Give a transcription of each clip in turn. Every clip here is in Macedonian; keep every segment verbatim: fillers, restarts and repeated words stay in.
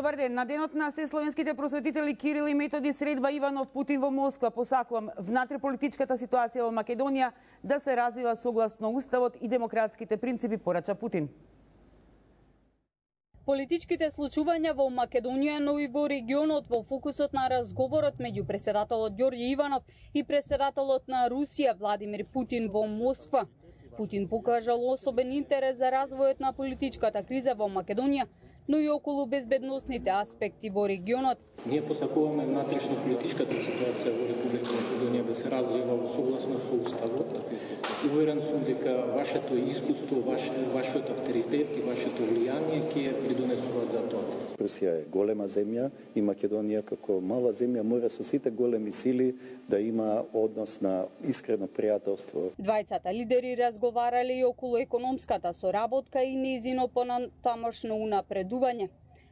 Добар ден. На денот на сесловенските просветители Кирил и Методи средба Иванов Путин во Москва посакувам внатреполитичката ситуација во Македонија да се развива согласно уставот и демократските принципи, порача Путин. Политичките случувања во Македонија, но и во регионот во фокусот на разговорот меѓу преседателот Ѓорѓе Иванов и преседателот на Русија Владимир Путин во Москва. Путин покажал особен интерес за развојот на политичката криза во Македонија, но и околу безбедносните аспекти во регионот. Ние посакуваме внатрешно политичката ситуација во Република Македонија да се развива во согласно со уставот. Уверен сум дека вашето искуство, ваш, вашиот авторитет и вашето влијание ќе придонесуваат за тоа. Русија е голема земја и Македонија како мала земја мора со сите големи сили да има однос на искрено пријателство. Двајцата лидери разговарале и околу економската соработка и нејзино понатамошно унапредување.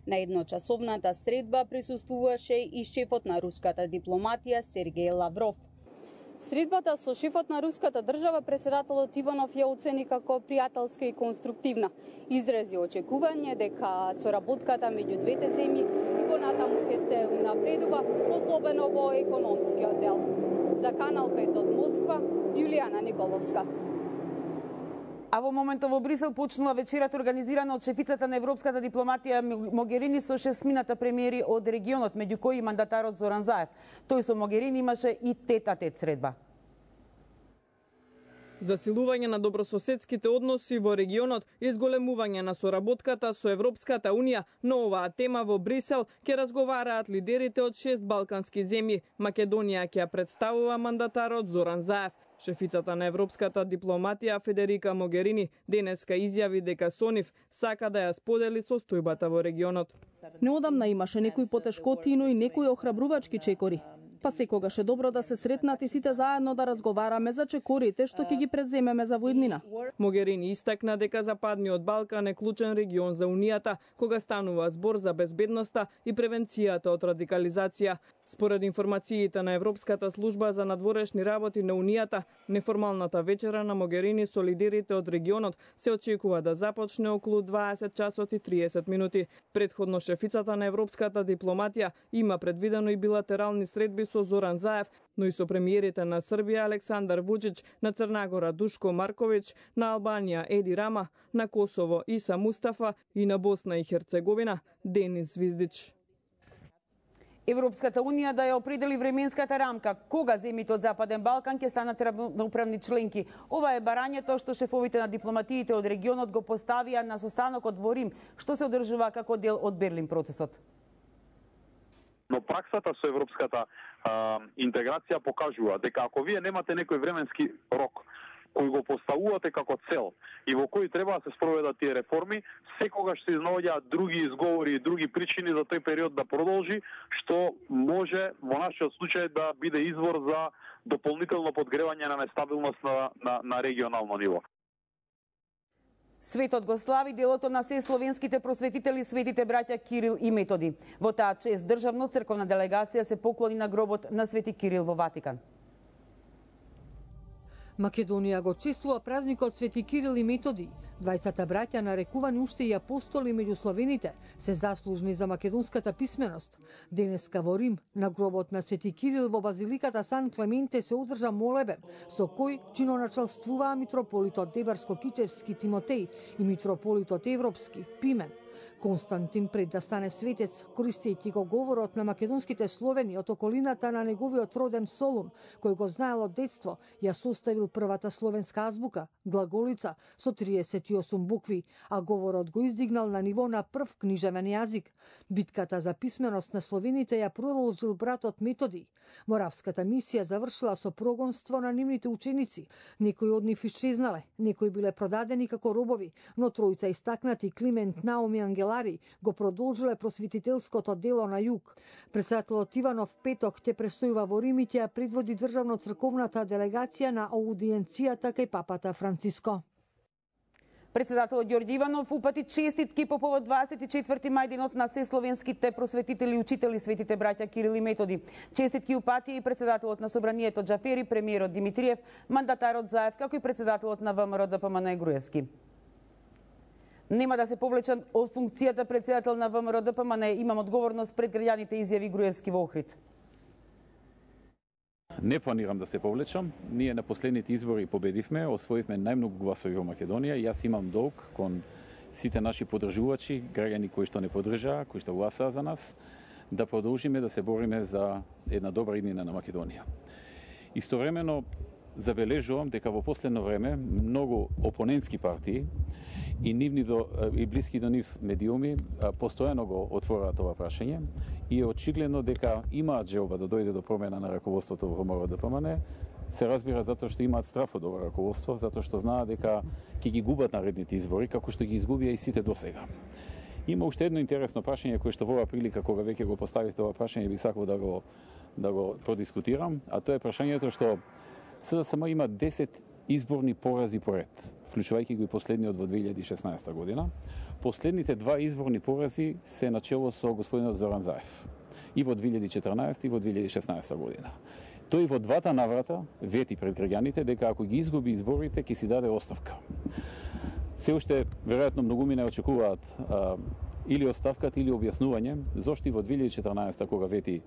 На едночасовната средба присуствуваше и шефот на руската дипломатија Сергеј Лавров. Средбата со шефот на руската држава преседателот Иванов ја оцени како пријателска и конструктивна. Изрази очекување дека соработката меѓу двете земји и понатаму ќе се унапредува, особено во економскиот дел. За Канал пет од Москва, Јулијана Николовска. А во моментот во Брисел почнува вечерата организирана од шефицата на европската дипломатија Могерини со шестмината премиери од регионот, меѓу кои и мандатарот Зоран Заев. Тој со Могерини имаше и тет-а-тет средба. Засилување на добрососедските односи во регионот и зголемување на соработката со Европската Унија, но оваа тема во Брисел ќе разговараат лидерите од шест балкански земји. Македонија ќе ја представува мандатарот Зоран Заев. Шефицата на европската дипломатија Федерика Могерини денеска изјави дека со нив сака да ја сподели состојбата во регионот. Неодамна имаше некои потешкоти, но и некои охрабрувачки чекори. Па секогаш е добро да се сретнат и сите заедно да разговараме за чекорите што ќе ги преземеме за воиднина. Могерини истакна дека Западниот Балкан е клучен регион за Унијата, кога станува збор за безбедноста и превенцијата од радикализација. Според информациите на Европската служба за надворешни работи на Унијата, неформалната вечера на Могерини со лидерите од регионот се очекува да започне околу дваесет часот и триесет минути. Претходно шефицата на европската дипломатија има предвидено и билатерални средби со Зоран Заев, но и со премиерите на Србија Александар Вучич, на Црнагора Душко Марковиќ, на Албанија Еди Рама, на Косово Иса Мустафа и на Босна и Херцеговина Денис Звиздич. Европската Унија да ја определи временската рамка кога земјите од Западен Балкан ќе станат равноправни членки. Ова е барањето што шефовите на дипломатиите од регионот го поставија на состанокот во Рим, што се одржува како дел од Берлин процесот. Но праксата со европската а, интеграција покажува дека ако вие немате некој временски рок кој го поставувате како цел и во кој треба да се спроведат тие реформи, секогаш се изнаоѓаат други изговори и други причини за тој период да продолжи, што може во нашиот случај да биде извор за дополнително подгревање на нестабилност на, на, на регионално ниво. Светот го слави делото на сесловенските просветители светите браќа Кирил и Методи. Во таа чест државно црковна делегација се поклони на гробот на Свети Кирил во Ватикан. Македонија го чествува празникот Свети Кирил и Методи. Двајцата браќа, нарекувани уште и апостоли меѓу славените, се заслужни за македонската писменост. Денеска во Рим, на гробот на Свети Кирил во базиликата Сан Клементе се одржа молебен, со кој чиноначалствуваа митрополитот Дебарско-Кичевски Тимотеј и митрополитот Европски Пимен. Константин, пред да стане светец, користејќи го говорот на македонските словени од околината на неговиот роден Солун, кој го знаел од детство, ја составил првата словенска азбука, глаголица, со триесет и осум букви, а говорот го издигнал на ниво на прв книжевен јазик. Битката за писменост на словените ја продолжил братот Методи. Моравската мисија завршила со прогонство на нивните ученици. Некои од нив исчезнале, некои биле продадени како робови, но тројца истакнати Климент, Наум и Ангела го продолжиле просветителското дело на југ. Председателот Иванов петок ќе престојува во Рим и ќе ја предводи државно-црковната делегација на аудиенцијата кај папата Франциско. Председателот Ѓорѓе Иванов упати честитки по повод дваесет и четврти мај денот на сесловенските просветители и учители светите браќа Кирил и Методи. Честитки упати и председателот на Собранието Џафери, премиерот Димитриев, мандатарот Заев, како и председателот на ВМРО ДПМН Груевски. Нема да се повлечам од функцијата председател на ВМРО Д П М Н, имам одговорност пред граѓаните, изјави Груевски во Охрид. Не планирам да се повлечам. Ние на последните избори победивме, освоивме најмногу гласови во Македонија. Јас имам долг кон сите наши поддржувачи, граѓани кои што не поддржаа, кои што гласаа за нас, да продолжиме да се бориме за една добра иднина на Македонија. Истовремено забележувам дека во последно време многу опонентски партии и нивни до, и блиски до нив медиуми постојано го отвораат ова прашање и е очигледно дека имаат желба да дојде до промена на раководството во ВМРО Д П М Н. Се разбира затоа што имаат страф од ова раководство, затоа што знаат дека ќе ги губат наредните избори, како што ги изгубија и сите досега. Има уште едно интересно прашање кое што во оваа прилика кога веќе го поставивте ова прашање би сакал да го да го продискутирам, а тоа е прашањето што С Д С М има десет изборни порази поред, вклучувајќи го и последниот во две илјади и шеснаесета година. Последните два изборни порази се начело со господинот Зоран Заев. И во две илјади и четрнаесета и во две илјади и шеснаесета година. Тој во двата наврата вети пред граѓаните дека ако ги изгуби изборите ќе си даде оставка. Се уште веројатно многумина очекуваат а, или оставката или објаснување зошто и во две илјади и четрнаесета кога вети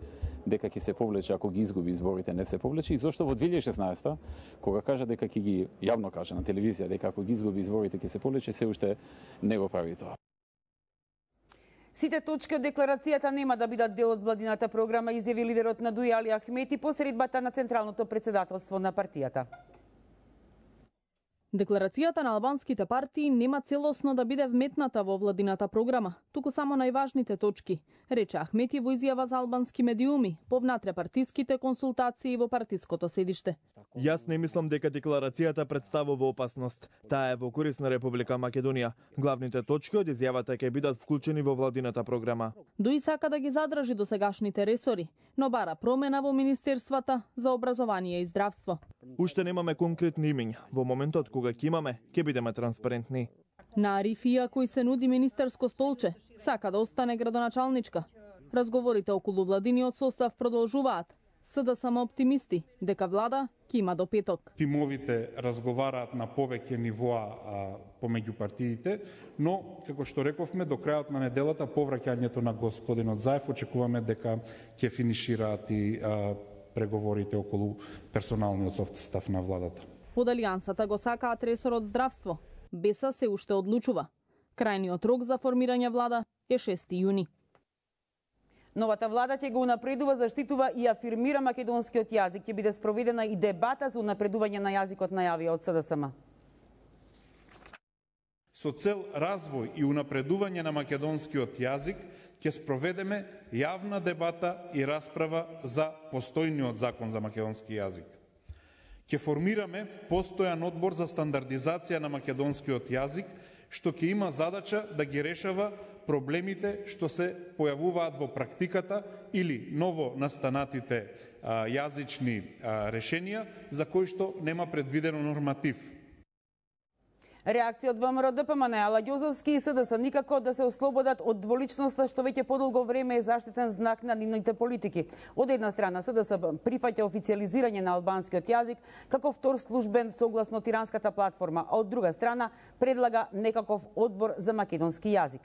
дека ќе се повлече ако ги изгуби изборите не се повлече и зошто во две илјади и шеснаесета кога кажа дека ќе ги јавно кажа на телевизија дека ако ги изгуби изборите ќе се повлече се уште не го прави тоа. Сите точки од декларацијата нема да бидат дел од владината програма, изјави лидерот на Дуи Али Ахмети по средбата на Централното претседателство на партијата. Декларацијата на албанските партии нема целосно да биде вметната во владината програма, туку само најважните точки, рече Ахмети во изјава за албански медиуми по внатрепартиските консултации во партиското седиште. Јас не мислам дека декларацијата представува опасност. Таа е во корист на Република Македонија. Главните точки од изјавата ќе бидат вклучени во владината програма. Дуи сака да ги задржи досегашните ресори, но бара промена во министерствата за образование и здравство. Уште немаме конкретни имиња. Во моментот кога ќе имаме, ќе бидеме транспарентни. На Арифија, кој се нуди министерско столче, сака да остане градоначалничка. Разговорите околу владиниот состав продолжуваат. С Д С М оптимисти дека влада ќе има до петок. Тимовите разговараат на повеќе нивоа а, помеѓу партиите, но, како што рековме, до крајот на неделата повраќањето на господинот Заев очекуваме дека ќе финишираат и а, преговорите околу персоналниот состав на владата. Од Алијансата го сакаат ресорот здравство. Беса се уште одлучува. Крајниот рок за формирање влада е шести јуни. Новата влада ќе го унапредува, заштитува и афирмира македонскиот јазик. Ќе биде спроведена и дебата за унапредување на јазикот, најавија од С Д С М. Со цел развој и унапредување на македонскиот јазик ќе спроведеме јавна дебата и расправа за постојниот закон за македонски јазик. Ќе формираме постојан одбор за стандардизација на македонскиот јазик, што ќе има задача да ги решава проблемите што се појавуваат во практиката или ново настанатите а, јазични а, решенија за кои што нема предвидено норматив. Реакција од В М Р Д П М Н, Ала Ѓозовски и С Д С никако да се ослободат од дволичноста што веќе подолго време е заштитен знак на нивните политики. Од една страна С Д С прифаќа официализирање на албанскиот јазик како втор службен согласно Тиранската платформа, а од друга страна предлага некаков одбор за македонски јазик.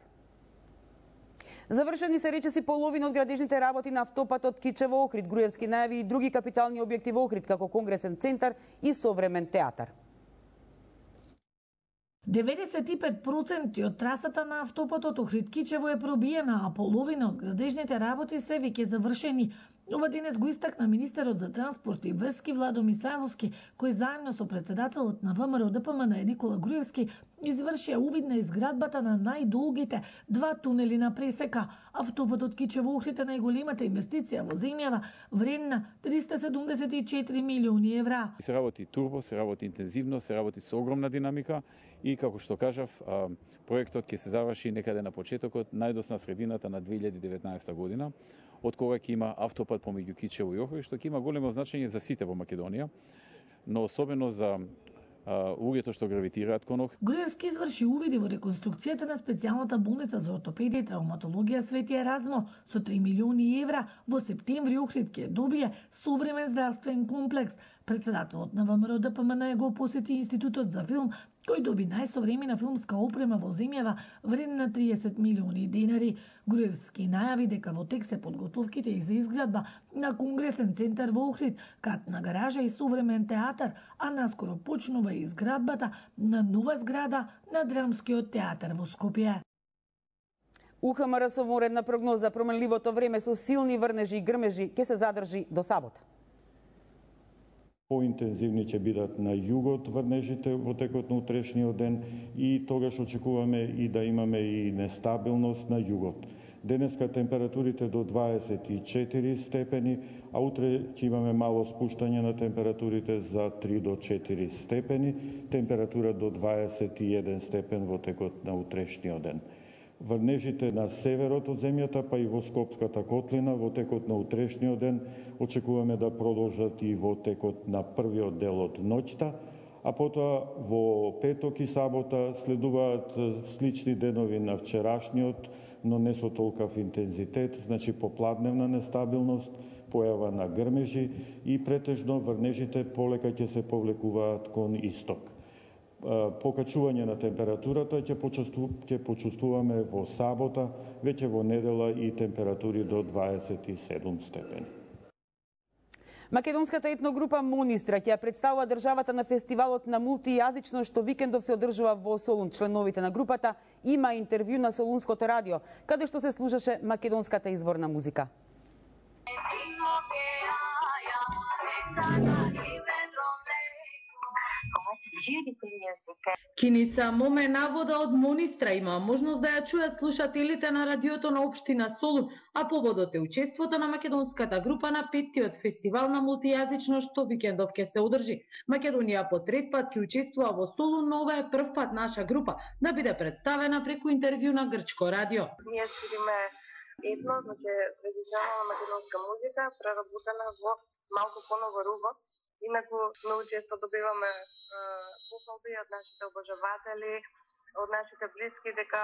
Завршени се речиси половина од градежните работи на автопатот Кичево Охрид. Груевски најави и други капитални објекти во Охрид, како Конгресен центар и современ театар. деветдесет и пет проценти од трасата на автопатот Охрид-Кичево е пробиена, а половина од градежните работи се веќе завршени. Ова денес го истакна министерот за транспорт и врски Владо Мисајловски, кој заедно со председателот на В М Р Д П М Н Никола Груевски извршија увид на изградбата на најдолгите два тунели на пресека. Автопатот Кичево Охрид е најголемата инвестиција во земјава, вредна триста седумдесет и четири милиони евра. Се работи турбо, се работи интензивно, се работи со огромна динамика и како што кажав, проектот ќе се заврши некаде на почетокот, најдосна средината на две илјади и деветнаесета година, од кога ќе има автопат помеѓу Кичево и Охрид, што ќе има големо значење за сите во Македонија, но особено за луѓето што гравитираат кон Охрид. Груевски изврши увиди во реконструкцијата на специјалната болница за ортопедија и травматологија Свети Еразмо со три милиони евра. Во септември Охрид ќе добие современ здравствен комплекс. Председателот на В М Р Д П М Н го посети Институтот за филм, Тој доби најсовремена филмска опрема во земјава вредна триесет милиони денари. Груевски најави дека во тек се подготовките и за изградба на Конгресен центар во Охрид, катна гаража и современ театар, а наскоро почнува изградбата на нова зграда на Драмскиот театар во Скопје. У Х М Р со воредна прогноза променливото време со силни врнежи и грмежи ќе се задржи до сабота. Поинтензивни ќе бидат на југот врнежите во текот на утрешниот ден и тогаш очекуваме и да имаме и нестабилност на југот. Денеска температурите до дваесет и четири степени, а утре ќе имаме мало спуштање на температурите за три до четири степени, температура до дваесет и еден степен во текот на утрешниот ден. Врнежите на северот од земјата, па и во Скопската котлина во текот на утрешниот ден очекуваме да продолжат и во текот на првиот дел од ноќта, а потоа во петок и сабота следуваат слични денови на вчерашниот, но не со толкав интензитет, значи попладневна нестабилност, појава на грмежи и претежно врнежите полека ќе се повлекуваат кон исток. Покачување на температурата ќе ќе почувствуваме во сабота, веќе во недела и температури до дваесет и седум степени. Македонската етногрупа Монистра ќе представува државата на фестивалот на мултијазично што викендов се одржува во Солун. Членовите на групата има интервју на Солунското радио, каде што се слушаше македонската изворна музика. Киниса Моме Навода од Монистра има можност да ја чујат слушателите на радиото на општина Солун, а поводот е учеството на македонската група на петтиот фестивал на мултијазично што викендов ќе се одржи. Македонија по трет пат ќе учествува во Солун, но ова е прв пат наша група да биде представена преку интервју на грчко радио. Ние свириме етно, значи традиционална македонска музика, преработена во малку понова руба. Инаку многу често добиваме похвалби од нашите обожаватели, од нашите блиски дека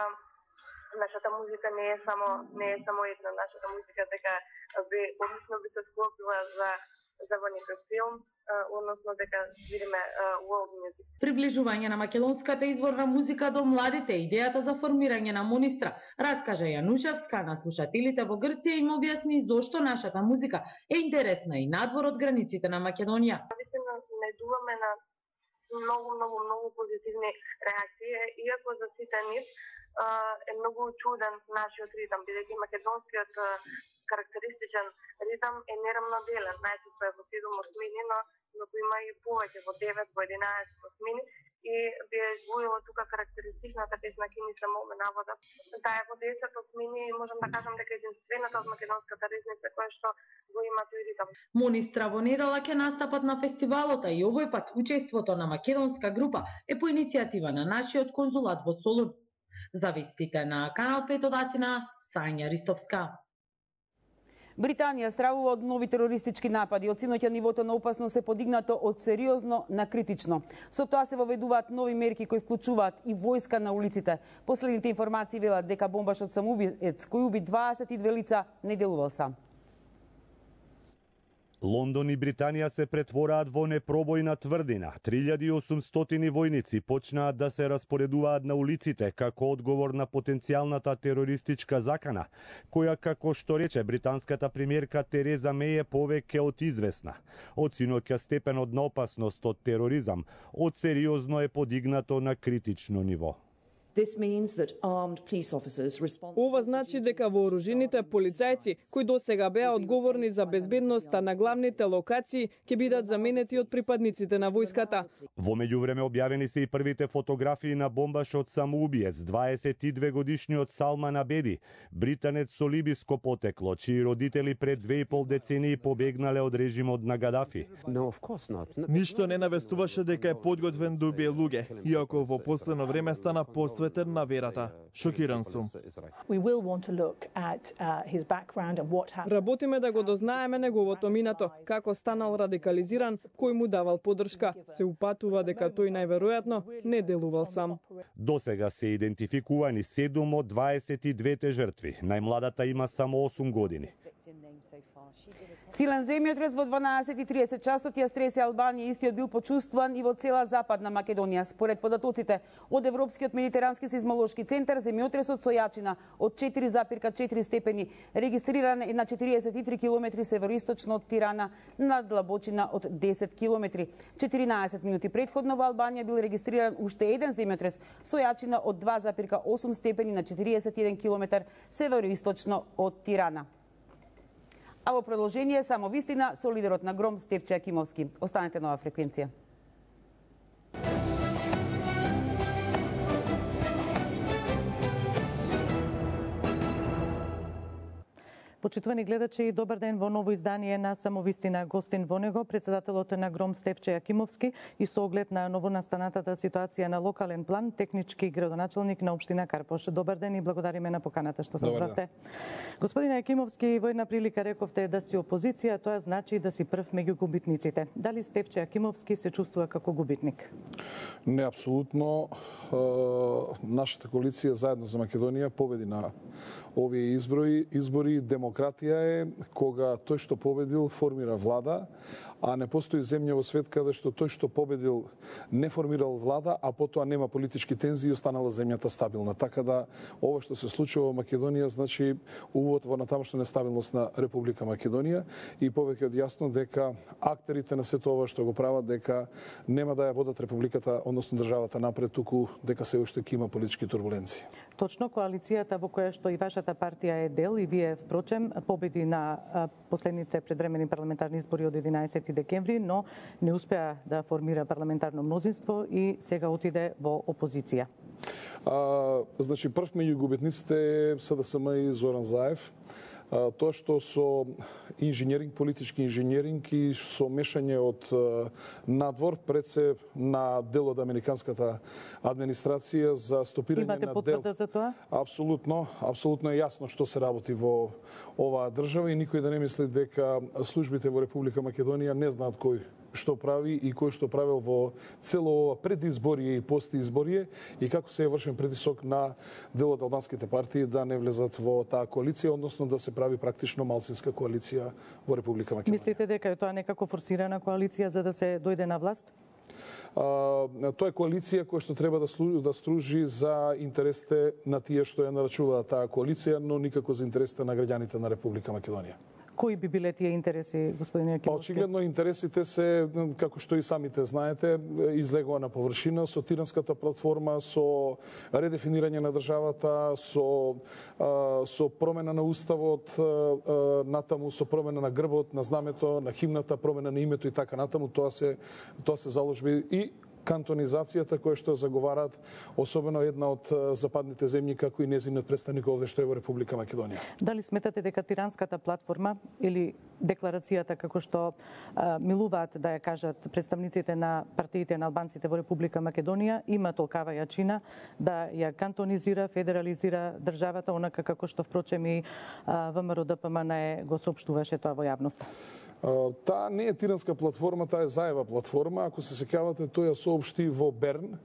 нашата музика не е само не е само една, нашата музика дека би одлично би се склопила за за во некој филм, односно дека свириме world music. Приближување на македонската изворна музика до младите, идејата за формирање на Монистра, раскажа Јанушевска на слушателите во Грција и им објасни зошто нашата музика е интересна и надвор од границите на Македонија. Вистина најдуваме на многу, многу, многу позитивни реакции, иако за сите нив е многу чуден нашиот ритам, бидејќи македонскиот карактеристичен ритам е нерамноделен, најчесто е во седум осмини, но но има и повеќе во девет, во единаесет осмини и би ја извоила тука карактеристичната песна Киниса Моме Навода. Таа е во десет осмини и можам да кажам дека единствената од македонската ризница која што го има тој ритам. Монистра во недела ќе настапат на фестивалот, а и овој пат учеството на македонска група е по иницијатива на нашиот конзулат во Солун. За вестите на Канал пет од Атина, Сања Ристовска. Британија стравува од нови терористички напади. Од синоќа нивото на опасност се подигнато од сериозно на критично. Со тоа се воведуваат нови мерки кои вклучуваат и војска на улиците. Последните информации велат дека бомбашот самоубиец кој уби дваесет и две лица не делувал сам. Лондон и Британија се претвораат во непробојна тврдина. три илјади и осумстотини војници почнаат да се распоредуваат на улиците како одговор на потенцијалната терористичка закана, која, како што рече британската премиерка Тереза Меј, е повеќе од известна. Од синоќа степенот на опасност од тероризам од сериозно е подигнато на критично ниво. Ова значи дека вооружените полицајци, кои досега беа одговорни за безбедноста на главните локации, ќе бидат заменети од припадниците на војската. Во меѓувреме објавени се и првите фотографии на бомбашот самоубиец, дваесет и две годишниот Салман Абеди, британец со либиско потекло, чии родители пред две и пол децении побегнале од режимот на Гадафи. Ништо не навестуваше дека е подготвен да убие луѓе, иако во последно време стана посветен на верата. Шокиран сум. Работиме да го дознаеме неговото минато, како станал радикализиран, кој му давал поддршка. Се упатува дека тој најверојатно не делувал сам. Досега се идентификувани седум од дваесет и двете жртви. Најмладата има само осум години. Силен земјотрес во дванаесет и тридесет часот ја стресе Албанија, истиот бил почувствуван и во цела Западна Македонија. Според податоците од Европскиот медитерански сеизмолошки центар, земјотресот со јачина од четири зарез четири степени регистриран е на четириесет и три километри североисточно од Тирана, на длабочина од десет километри. четиринаесет минути претходно во Албанија бил регистриран уште еден земјотрес со јачина од два зарез осум степени на четириесет и еден километар североисточно од Тирана. А во продолжение само вистина со лидерот на Гром Стефче Акимовски. Останете на оваа фреквенција. Почитувани гледачи, добар ден во ново издание на Самовистина. Гостин во него председателот на Гром Стефче Акимовски и со оглед на новонастанатата ситуација на локален план, технички градоначалник на општина Карпош. Добар ден и благодариме на поканата што се озвавте. Господине Акимовски, во една прилика рековте да си опозиција, тоа значи да си прв меѓу губитниците. Дали Стефче Акимовски се чувствува како губитник? Не, апсолутно. Нашата коалиција Заедно за Македонија победи на овие избори. Избори демократија е кога тој што победил формира влада, а не постои земја во свет каде што тој што победил не формирал влада, а потоа нема политички тензии и останала земјата стабилна. Така да ова што се случува во Македонија значи увод во натамошна нестабилност на Република Македонија и повеќе од јасно дека актерите на сето ова што го прават дека нема да ја водат републиката, односно државата напред, туку дека се уште ќе има политички турбуленции. Точно, коалицијата во која што и вашата партија е дел и вие впрочем победи на последните предвремени парламентарни избори од единаесети декември, но не успеа да формира парламентарно мнозинство и сега отиде во опозиција. А, значи прв меѓу губитниците е СДСМ и Зоран Заев. А, тоа што со инженеринг, политички инженеринг и со мешање од надвор пред се на дел од американската администрација за стопирање Имате на дел. Имате потврда за тоа? Апсолутно, апсолутно е јасно што се работи во оваа држава и никој да не мисли дека службите во Република Македонија не знаат кој што прави и кој што правил во цело ова предизборие и постизборие и како се е вршен притисок на дел од албанските партии да не влезат во таа коалиција, односно да се прави практично малцинска коалиција во Република Македонија. Мислите дека е тоа некако форсирана коалиција за да се дојде на власт? Uh, тоа е коалиција која што треба да, служи, да стружи за интересите на тие што ја нарачуваат таа коалиција, но никако за интересите на граѓаните на Република Македонија. Кои би биле тие интереси, господине Акимовски? Очигледно интересите се, како што и самите знаете, излегува на површина со Тиранската платформа, со редефинирање на државата, со, со промена на уставот, натаму со промена на грбот, на знамето, на химната, промена на името и така натаму, тоа се, тоа се заложби и кантонизацијата која што заговараат, особено една од западните земји, како и нејзиниот представник овде што е во Република Македонија. Дали сметате дека Тиранската платформа или декларацијата како што а, милуваат да ја кажат представниците на партиите на албанците во Република Македонија има толкава јачина да ја кантонизира, федерализира државата, онака како што впрочем и ВМРО Д П М Н го соопштуваше тоа во јавноста? Таа не е Тиранска платформа, таа е Заева платформа. Ако се сеќавате, тој ја соопшти во Берн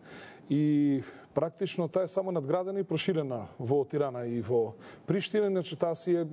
и практично таа е само надградена и проширена во Тирана и во Приштина, иначе таа си е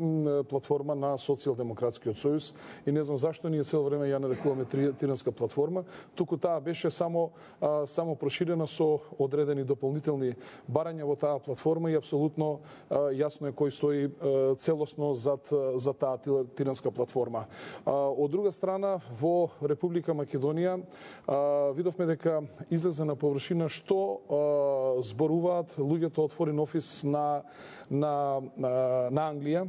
платформа на Социјалдемократскиот сојуз и не знам зашто ние цело време ја нарекуваме Тиранска платформа, туку таа беше само а, само проширена со одредени дополнителни барања во таа платформа и апсолутно а, јасно е кој стои а, целосно зад за таа Тиранска платформа. А, од друга страна во Република Македонија а, видовме дека излезе на површина што а, зборуваат луѓето од Foreign Office на, на, на, на Англија,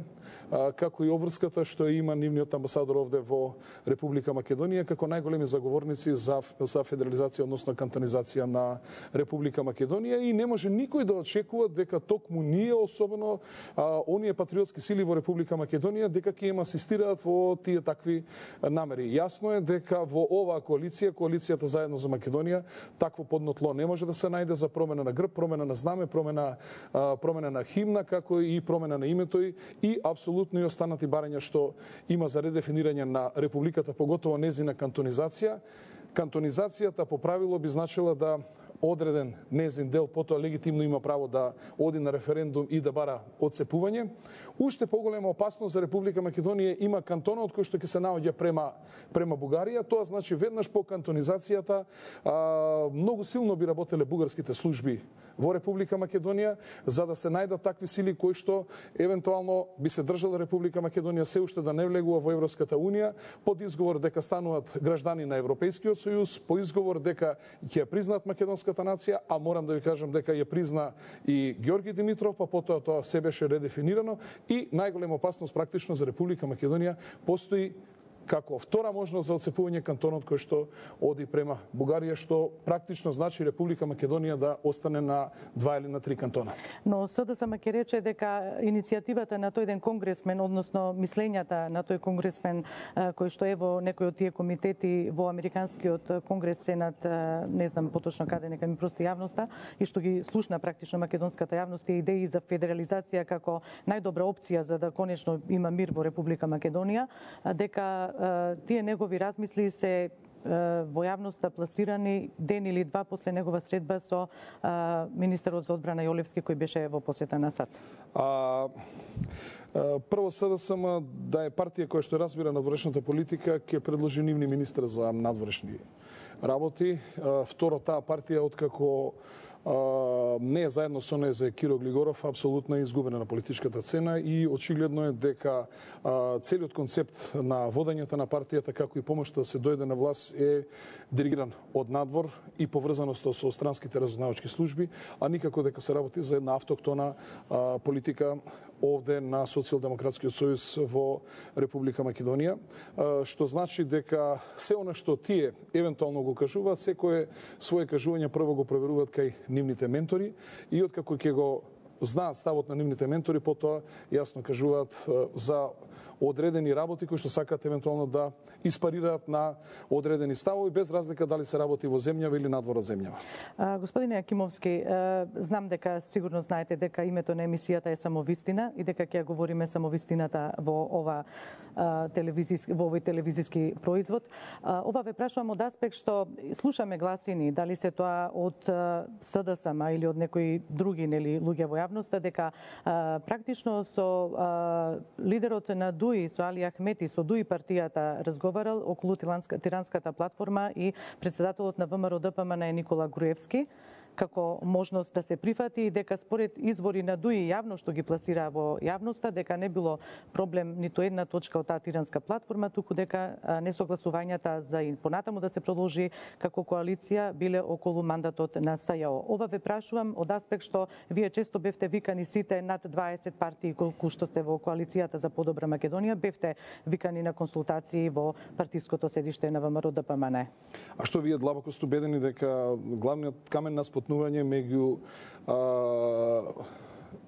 како и обврската што има нивниот амбасадор овде во Република Македонија, како најголеми заговорници за, за федерализација, односно кантонизација на Република Македонија и не може никој да очекува дека токму ние, особено а, оние патриотски сили во Република Македонија, дека ќе им асистираат во тие такви намери. Јасно е дека во оваа коалиција, коалицијата Заедно за Македонија, такво подно тло не може да се најде за промена на грб, промена на знаме, промена, а, промена на химна, како и промена на името и апсолутно и останати барања што има за редефинирање на републиката, поготово незина кантонизација. Кантонизацијата по правило би значила да одреден незин дел, потоа легитимно има право да оди на референдум и да бара одцепување. Уште поголема опасност за Република Македонија има кантонот кој што ќе се наоѓа према према Бугарија. Тоа значи веднаш по кантонизацијата а, многу силно би работеле бугарските служби во Република Македонија за да се најдат такви сили кои што евентуално би се држала Република Македонија се уште да не влегува во Европската унија под изговор дека стануваат граждани на Европејскиот сојуз, по изговор дека ќе ја признаат македонската нација, а морам да ви кажам дека ја призна и Ѓорги Димитров, па потоа тоа се беше редефинирано и најголема опасност практично за Република Македонија постои како втора можност за одцепување кантонот кој што оди према Бугарија, што практично значи Република Македонија да остане на два или на три кантона. Но СДСМ ќе рече дека иницијативата на тој ден конгресмен, односно мислењата на тој конгресмен кој што е во некој од тие комитети во Американскиот конгрес, Сенат, не знам поточно каде, нека ми прости јавноста, и што ги слушна практично македонската јавност и идеи за федерализација како најдобра опција за да конечно има мир во Република Македонија, дека тие негови размисли се во јавноста пласирани ден или два после негова средба со а, министерот за одбрана Јолевски кој беше во посета на САД. А, прво СДСМ да е партија која што разбира надворешната политика ќе предложи нивни министер за надворешни работи. Второ, таа партија откако Uh, не е заедно со неј за Киро Глигоров, апсолутно е изгубена на политичката цена и очигледно е дека uh, целиот концепт на водењето на партијата, како и помошта да се дојде на власт, е диригиран од надвор и поврзаноста со странските разузнавачки служби, а никако дека се работи за една автоктона uh, политика овде на Социјалдемократскиот сојуз во Република Македонија, uh, што значи дека се она што тие евентуално го кажуваат, секое свое кажување прво го проверуваат кај нивните ментори и откако ќе го знаат ставот на нивните ментори, потоа јасно кажуваат за одредени работи кои што сакаат евентуално да испарираат на одредени ставови без разлика дали се работи во земјава или надвор од земјава. А, господине Јакимовски, знам дека сигурно знаете дека името на емисијата е само вистина и дека ќе говориме само вистината во ова телевизиски во овој телевизиски производ. А, ова ве прашувам од аспект што слушаме гласини, дали се тоа од СДСМ или од некои други нели луѓе во јавноста, дека а, практично со а, лидерот на ДУИ, со Али Ахмети, со ДУИ партијата разговарал околу тиранската платформа и председателот на ВМРО Д П М Н е Никола Груевски како можност да се прифати и дека според извори на ДУИ јавно што ги пласира во јавноста, дека не било проблем ниту една точка од таа тиранска платформа, туку дека несогласувањата за и понатаму да се продолжи како коалиција биле околу мандатот на С Ј О. Ова ве прашувам од аспект што вие често бевте викани сите над дваесет партии колку што сте во коалицијата за подобра Македонија, бевте викани на консултации во партиското седиште на ВМРО Д П М Н. А што вие длабоко сте убедени дека главниот камен на спотнување меѓу а,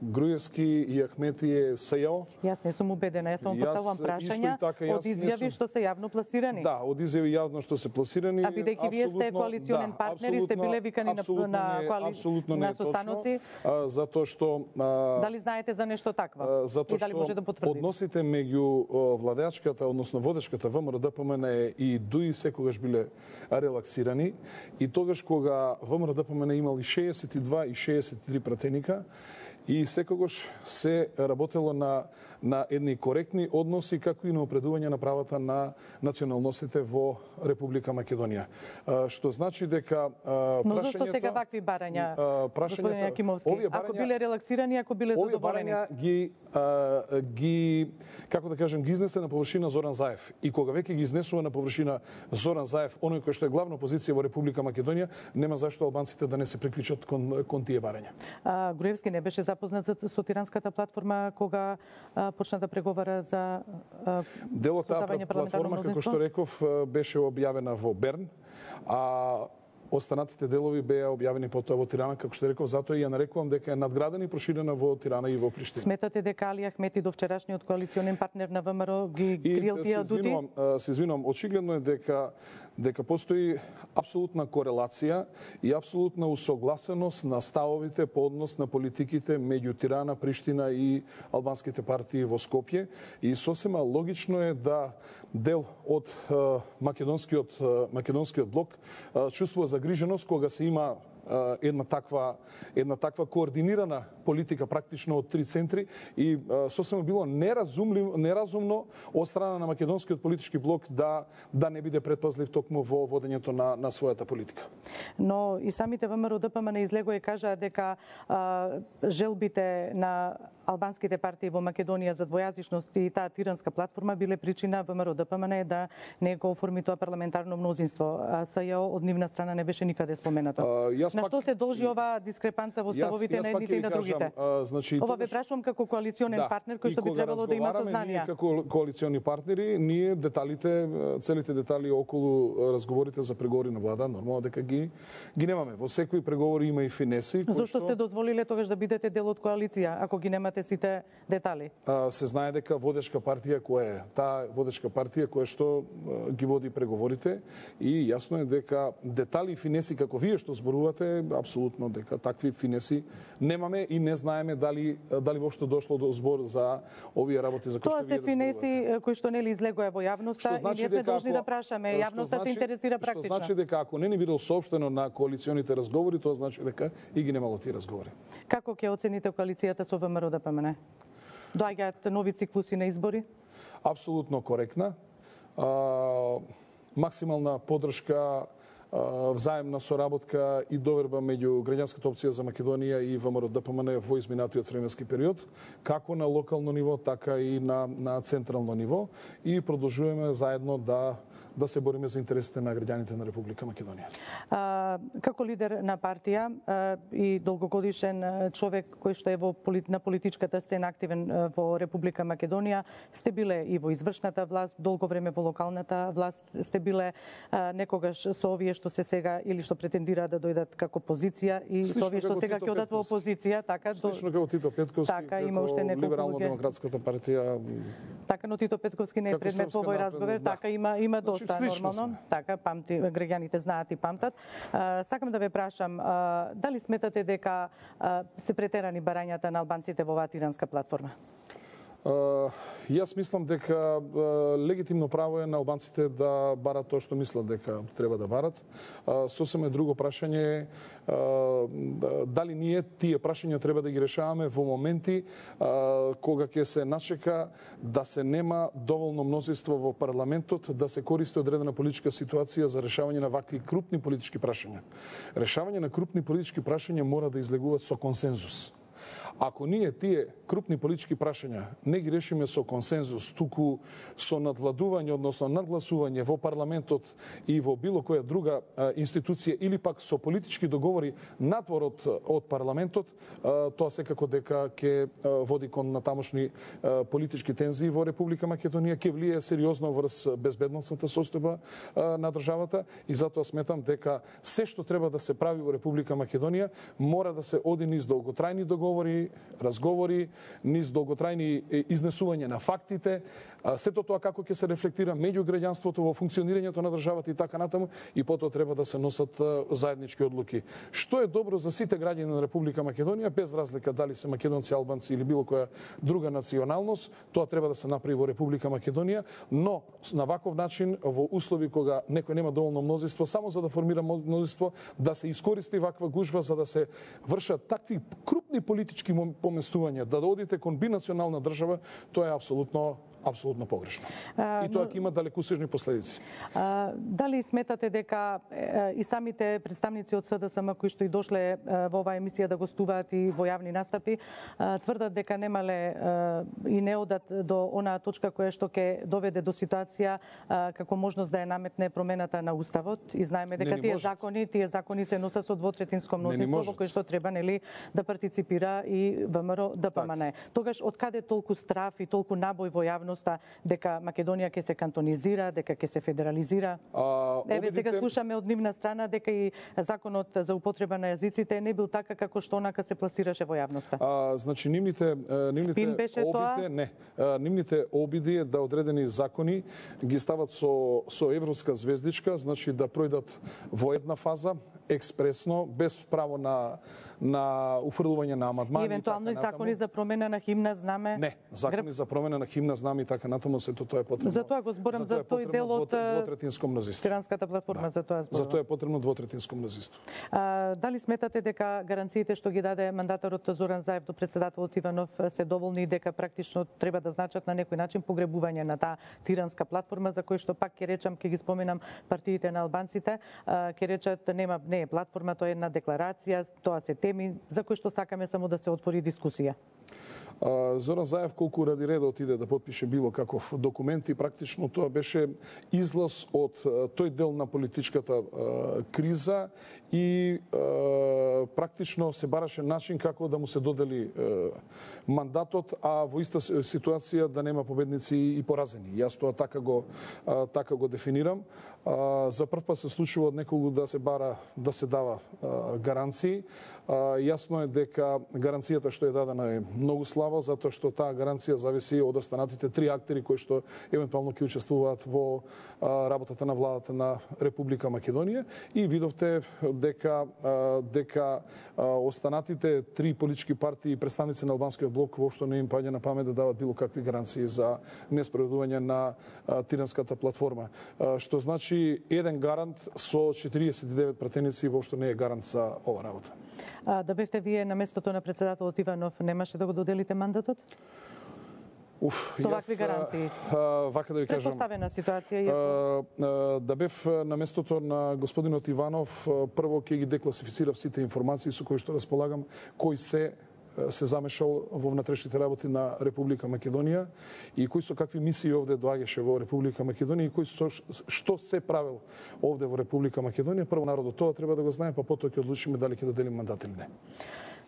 Груевски и Ахмети е С Ј О? Јас не сум убедена, јас само поставувам прашања така, од изјави што се јавно пласирани. Да, од изјави јавно што се пласирани. А бидејќи вие сте коалиционен да, партнер и сте биле викани на на коали... на состаноци, а, затоа што а, дали знаете за нешто такво? Затоа и дали може да потврдите? Односите меѓу владеачката, односно водечката ВМРО Д П М Н и ДУИ секогаш биле релаксирани и тогаш кога ВМРО Д П М Н имал и шеесет и два и шеесет и три пратеника, и секогаш се работело на на едни коректни односи како и на опредување на правата на националностите во Република Македонија. А, што значи дека а, Но зашто сега вакви барања, господин Јакимовски? Ако биле релаксирани, ако биле задоволени? Овие барања ги а, ги како да кажем ги изнесе на површина Зоран Заев. И кога веќе ги изнесува на површина Зоран Заев, оној кој што е главна позиција во Република Македонија, нема зашто албанците да не се приклучат кон кон тие барања. А, Груевски не беше запознат со тиранската платформа кога а, почна да преговара за а, делот таа платформа, како што реков, беше објавена во Берн, а останатите делови беа објавени потоа во Тирана, како што реков, затоа и ја нарекувам дека е надградена и проширена во Тирана и во Приштина. Сметате дека Али Ахмети, довчерашниот коалиционен партнер на ВМРО, ги крил тие адути? Се извинувам, очигледно е дека дека постои апсолутна корелација и апсолутна усогласеност на ставовите по однос на политиките меѓу Тирана, Приштина и албанските партии во Скопје и сосема логично е да дел од македонскиот македонскиот блок чувствува загриженост кога се има една таква една таква координирана политика практично од три центри и сосема било неразумливо неразумно од страна на македонскиот политички блок да да не биде предпазлив токму во водењето на на својата политика. Но и самите ВМРО Д П М Н излегоа и кажаа дека а, желбите на албанските партии во Македонија за двојазичност и таа тиранска платформа биле причина ВМРО Д П М Н да не го оформи тоа парламентарно мнозинство. А С Ј О од нивна страна не беше никаде споменато. Uh, на што се должи оваа дискрепанца во ставовите на едните и на другите? Uh, значи, Ова ве прашувам како коалиционен да, партнер кој што би требало да има сознание. Ние како коалициони партнери, ние деталите, целите детали околу разговорите за преговори на влада, нормално дека ги ги немаме. Во секои преговори има и финеси. Зошто што... сте дозволиле тогаш да бидете дел од коалиција, ако ги немате сите детали? Uh, се знае дека водечка партија која е? Таа водечка партија која што uh, ги води преговорите и јасно е дека детали и финеси како вие што зборувате, апсолутно дека такви финеси немаме и не знаеме дали дали воопшто дошло до збор за овие работи за кои што вие Тоа се финеси кои што нели излегоа во јавноста значи и ние сме дека должни ако, да прашаме. Јавноста значи, се интересира практично. Што значи дека ако не ни бидел соопштено на коалиционите разговори, тоа значи дека и ги немало тие разговори. Како ќе оцените коалицијата со ВМРО Д П М Н? Доаѓаат нови циклуси на избори? Апсолутно коректна. А, максимална поддршка, взаемна соработка и доверба меѓу граѓанската опција за Македонија и ВМРО Д П М Н во изминатиот временски период, како на локално ниво, така и на, на централно ниво и продолжуваме заедно да да се бориме за интересите на граѓаните на Република Македонија. А, како лидер на партија а, и долгогодишен човек кој што е во полит, на политичката сцена активен во Република Македонија, сте биле и во извршната власт, долго време во локалната власт, сте биле а, некогаш со овие што се сега или што претендираат да дојдат како позиција и Слично со овие што сега ќе одат во опозиција, така Слично како Тито Петковски, така, како има уште неколку Либерално-демократската партија. Така, но Тито Петковски не е предмет во овој разговор, да. така има има доста Значи, нормално. Така, памти, граѓаните знаат и памтат. А, сакам да ве прашам, а, дали сметате дека а, се претерани барањата на албанците во оваа тиранска платформа? Uh, јас мислам дека uh, легитимно право е на албанците да барат тоа што мислат дека треба да барат. Uh, сосема друго прашање е uh, дали ние тие прашања треба да ги решаваме во моменти uh, кога ќе се начека да се нема доволно мнозинство во парламентот да се користи одредена политичка ситуација за решавање на вакви крупни политички прашања. Решавање на крупни политички прашања мора да излегуваат со консензус. Ако ние тие крупни политички прашања не ги решиме со консензус, туку со надвладување, односно надгласување во парламентот и во било која друга а, институција или пак со политички договори надвор од, од парламентот, а, тоа секако дека ќе води кон натамошни а, политички тензии во Република Македонија, ќе влие сериозно врз безбедносната состојба а, на државата и затоа сметам дека се што треба да се прави во Република Македонија мора да се оди низ долготрајни договори, разговори, низ долготрајни изнесување на фактите, сето тоа како ќе се рефлектира меѓу граѓанството во функционирањето на државата и така натаму, и потоа треба да се носат заеднички одлуки. Што е добро за сите граѓани на Република Македонија, без разлика дали се македонци, албанци или било која друга националност, тоа треба да се направи во Република Македонија, но на ваков начин во услови кога некој нема доволно мнозинство, само за да формира мнозинство, да се искористи ваква гужва за да се вршат такви крупни политички поместувања, да одите кон бинационална држава, тоа е апсолутно апсолутно погрешно. А, и тоа ќе има далекусежни последици. А, дали сметате дека е, и самите представници од С Д С М кои што и дошле е, во оваа емисија да гостуваат и во јавни настапи, а, тврдат дека немале а, и не одат до онаа точка која што ќе доведе до ситуација а, како можност да ја наметне промената на уставот и знаеме дека тие можат. закони, тие закони се носат со двотретинско мнозинство во кој што треба нели да партиципира и ВМРО Д П М Н. Тогаш од каде толку страф и толку набој во јавност дека Македонија ќе се кантонизира, дека ќе се федерализира? А, Еве обидите... сега слушаме од нивна страна дека и законот за употреба на јазиците не бил така како што онака се пласираше во јавноста. А, значи нивните нивните Спин беше обиди, тоа? не. А, нивните обиди е да одредени закони ги стават со со европска звездичка, значи да пројдат во една фаза експресно, без право на на уфрлување на амандмани. И евентуално и закони за промена на химна знаме. Не, закони грб... за промена на химна знаме и така натаму, сето тоа е потребно. За тоа го зборам за тој дел од двотретинско мнозинство. Тиранската платформа, за тоа зборам. За тоа е потребно двотретинско мнозинство. А, дали сметате дека гаранциите што ги даде мандаторот Зоран Заев до председателот Иванов се доволни и дека практично треба да значат на некој начин погребување на таа тиранска платформа, за кој што пак ќе речам, ќе ги споменам партиите на албанците, ќе речат нема не е платформа, тоа е една декларација, тоа се теми за кои што сакаме само да се отвори дискусија. Зоран Заев колку ради реда отиде да потпише било каков документ и практично тоа беше излаз од тој дел на политичката криза и практично се бараше начин како да му се додели мандатот, а во иста ситуација да нема победници и поразени. Јас тоа така го така го дефинирам. За прв пат се случува од некого да се бара да се дава гаранции. Јасно е дека гаранцијата што е дадена е многу слаба, затоа што таа гаранција зависи од останатите три актери кои што евентуално ќе учествуваат во работата на владата на Република Македонија и видовте дека дека останатите три политички партии и представници на албанскиот блок воопшто не им паѓа на памет да дават било какви гаранции за неспроведување на Тиранската платформа. Што значи еден гарант со четириесет и девет пратеници воопшто не е гарант за ова работа. А, да бевте вие на местото на председателот Иванов, немаше да го доделите мандатот? Уф, со вакви гаранции. А, вака да ви кажам. Предпоставена ситуација. А, а, да бев на местото на господинот Иванов, прво ќе ги декласифицирав сите информации со кои што располагам, кои се се замешал во внатрешните работи на Република Македонија и кои со какви мисии овде доаѓаше во Република Македонија и кои со, што се правил овде во Република Македонија. Прво народот тоа треба да го знае, па потоа ќе одлучиме дали ќе доделим мандат или не.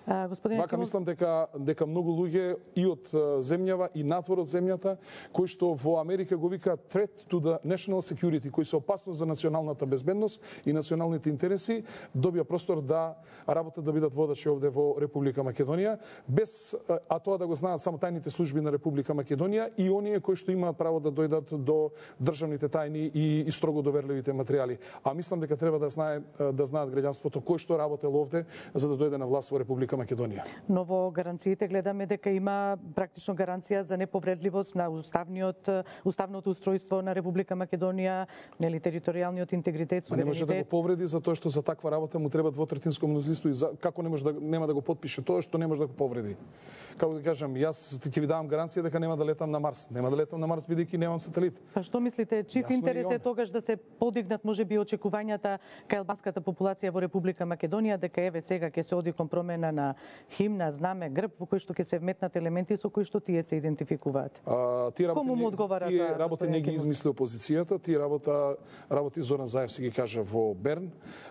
А, господин Вака мислам дека дека многу луѓе и од земјава и надвор од земјата кои што во Америка го вика threat to the national security, кои се опасност за националната безбедност и националните интереси, добија простор да работат да бидат водачи овде во Република Македонија, без а тоа да го знаат само тајните служби на Република Македонија и оние кои што имаат право да дојдат до државните тајни и, и строго доверливите материјали. А мислам дека треба да знае да знаат граѓанството кој што работел овде за да дојде на власт во Република Македонија. Но во гаранциите гледаме дека има практично гаранција за неповредливост на уставниот уставното устројство на Република Македонија, нели територијалниот интегритет, суверенитет. Не може да го повреди затоа што за таква работа му треба двотретинско мнозинство и за, како не може да нема да го потпише тоа што не може да го повреди. Како да кажам, јас ќе ви давам гаранција дека нема да летам на Марс. Нема да летам на Марс бидејќи немам сателит. Па што мислите, чив интерес е тогаш да се подигнат можеби очекувањата кај албанската популација во Република Македонија дека еве сега ќе се оди кон промена на химна, знаме, грб во кој што ќе се вметнат елементи со кои што тие се идентификуваат. А, тие работи, Кому му одговара тие таа работи не ги измисли опозицијата, тие работа работи Зоран Заев си ги кажа во Берн.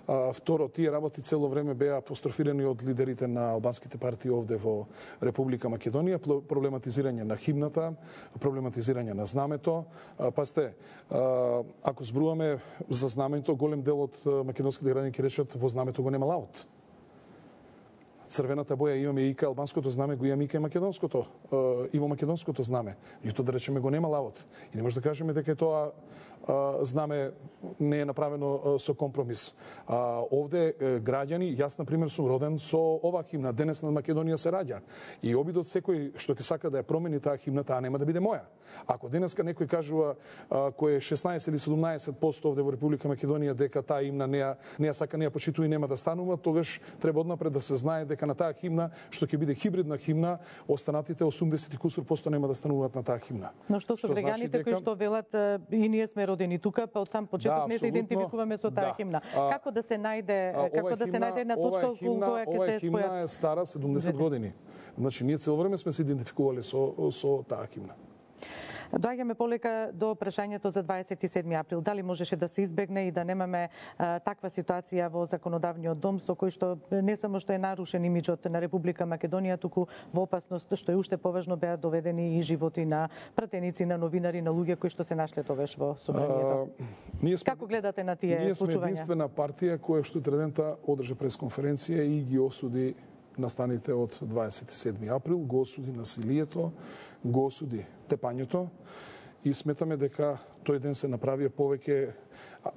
А, второ, тие работи цело време беа апострофирани од лидерите на албанските партии овде во Република Македонија, проблематизирање на химната, проблематизирање на знамето. А, пасте, а, ако зборуваме за знамето, голем дел од македонските граѓани ќе речат во знамето го нема лаут. Црвената боја имаме и кај албанското знаме, го имаме и кај македонското, и во македонското знаме. И тоа да речеме го нема лавот. И не може да кажеме дека тоа знаме не е направено со компромис. А, овде граѓани, јас на пример сум роден со оваа химна, денес на Македонија се раѓа. И обидот секој што ќе сака да ја промени таа химна, таа нема да биде моја. Ако денеска некој кажува а, кој е шеснаесет или седумнаесет проценти овде во Република Македонија дека таа химна не ја не ја сака, не ја почитува и нема да станува, тогаш треба однапред да се знае дека на таа химна, што ќе биде хибридна химна, останатите осумдесет и кусур посто нема да стануваат на таа химна. Но што со граѓаните значи дека... кои што велат и ние сме родени тука, па од сам почеток да, не се идентификуваме со таа да. химна. Како да се најде, а, како да се најде една точка околу која ќе се спојат? Ова химна е стара седумдесет години. Значи ние цело време сме се идентификувале со со таа химна. Доаѓаме полека до прашањето за дваесет и седми април. Дали можеше да се избегне и да немаме а, таква ситуација во законодавниот дом со кој што не само што е нарушен имиџот на Република Македонија, туку во опасност што е уште поважно беа доведени и животи на пратеници, на новинари, на луѓе кои што се нашле тогаш во собранието. Како гледате на тие ние сме случувања? единствена партија која што утредента одржа пресконференција и ги осуди настаните од дваесет и седми април, го осуди насилието, го осуди тепањето и сметаме дека тој ден се направија повеќе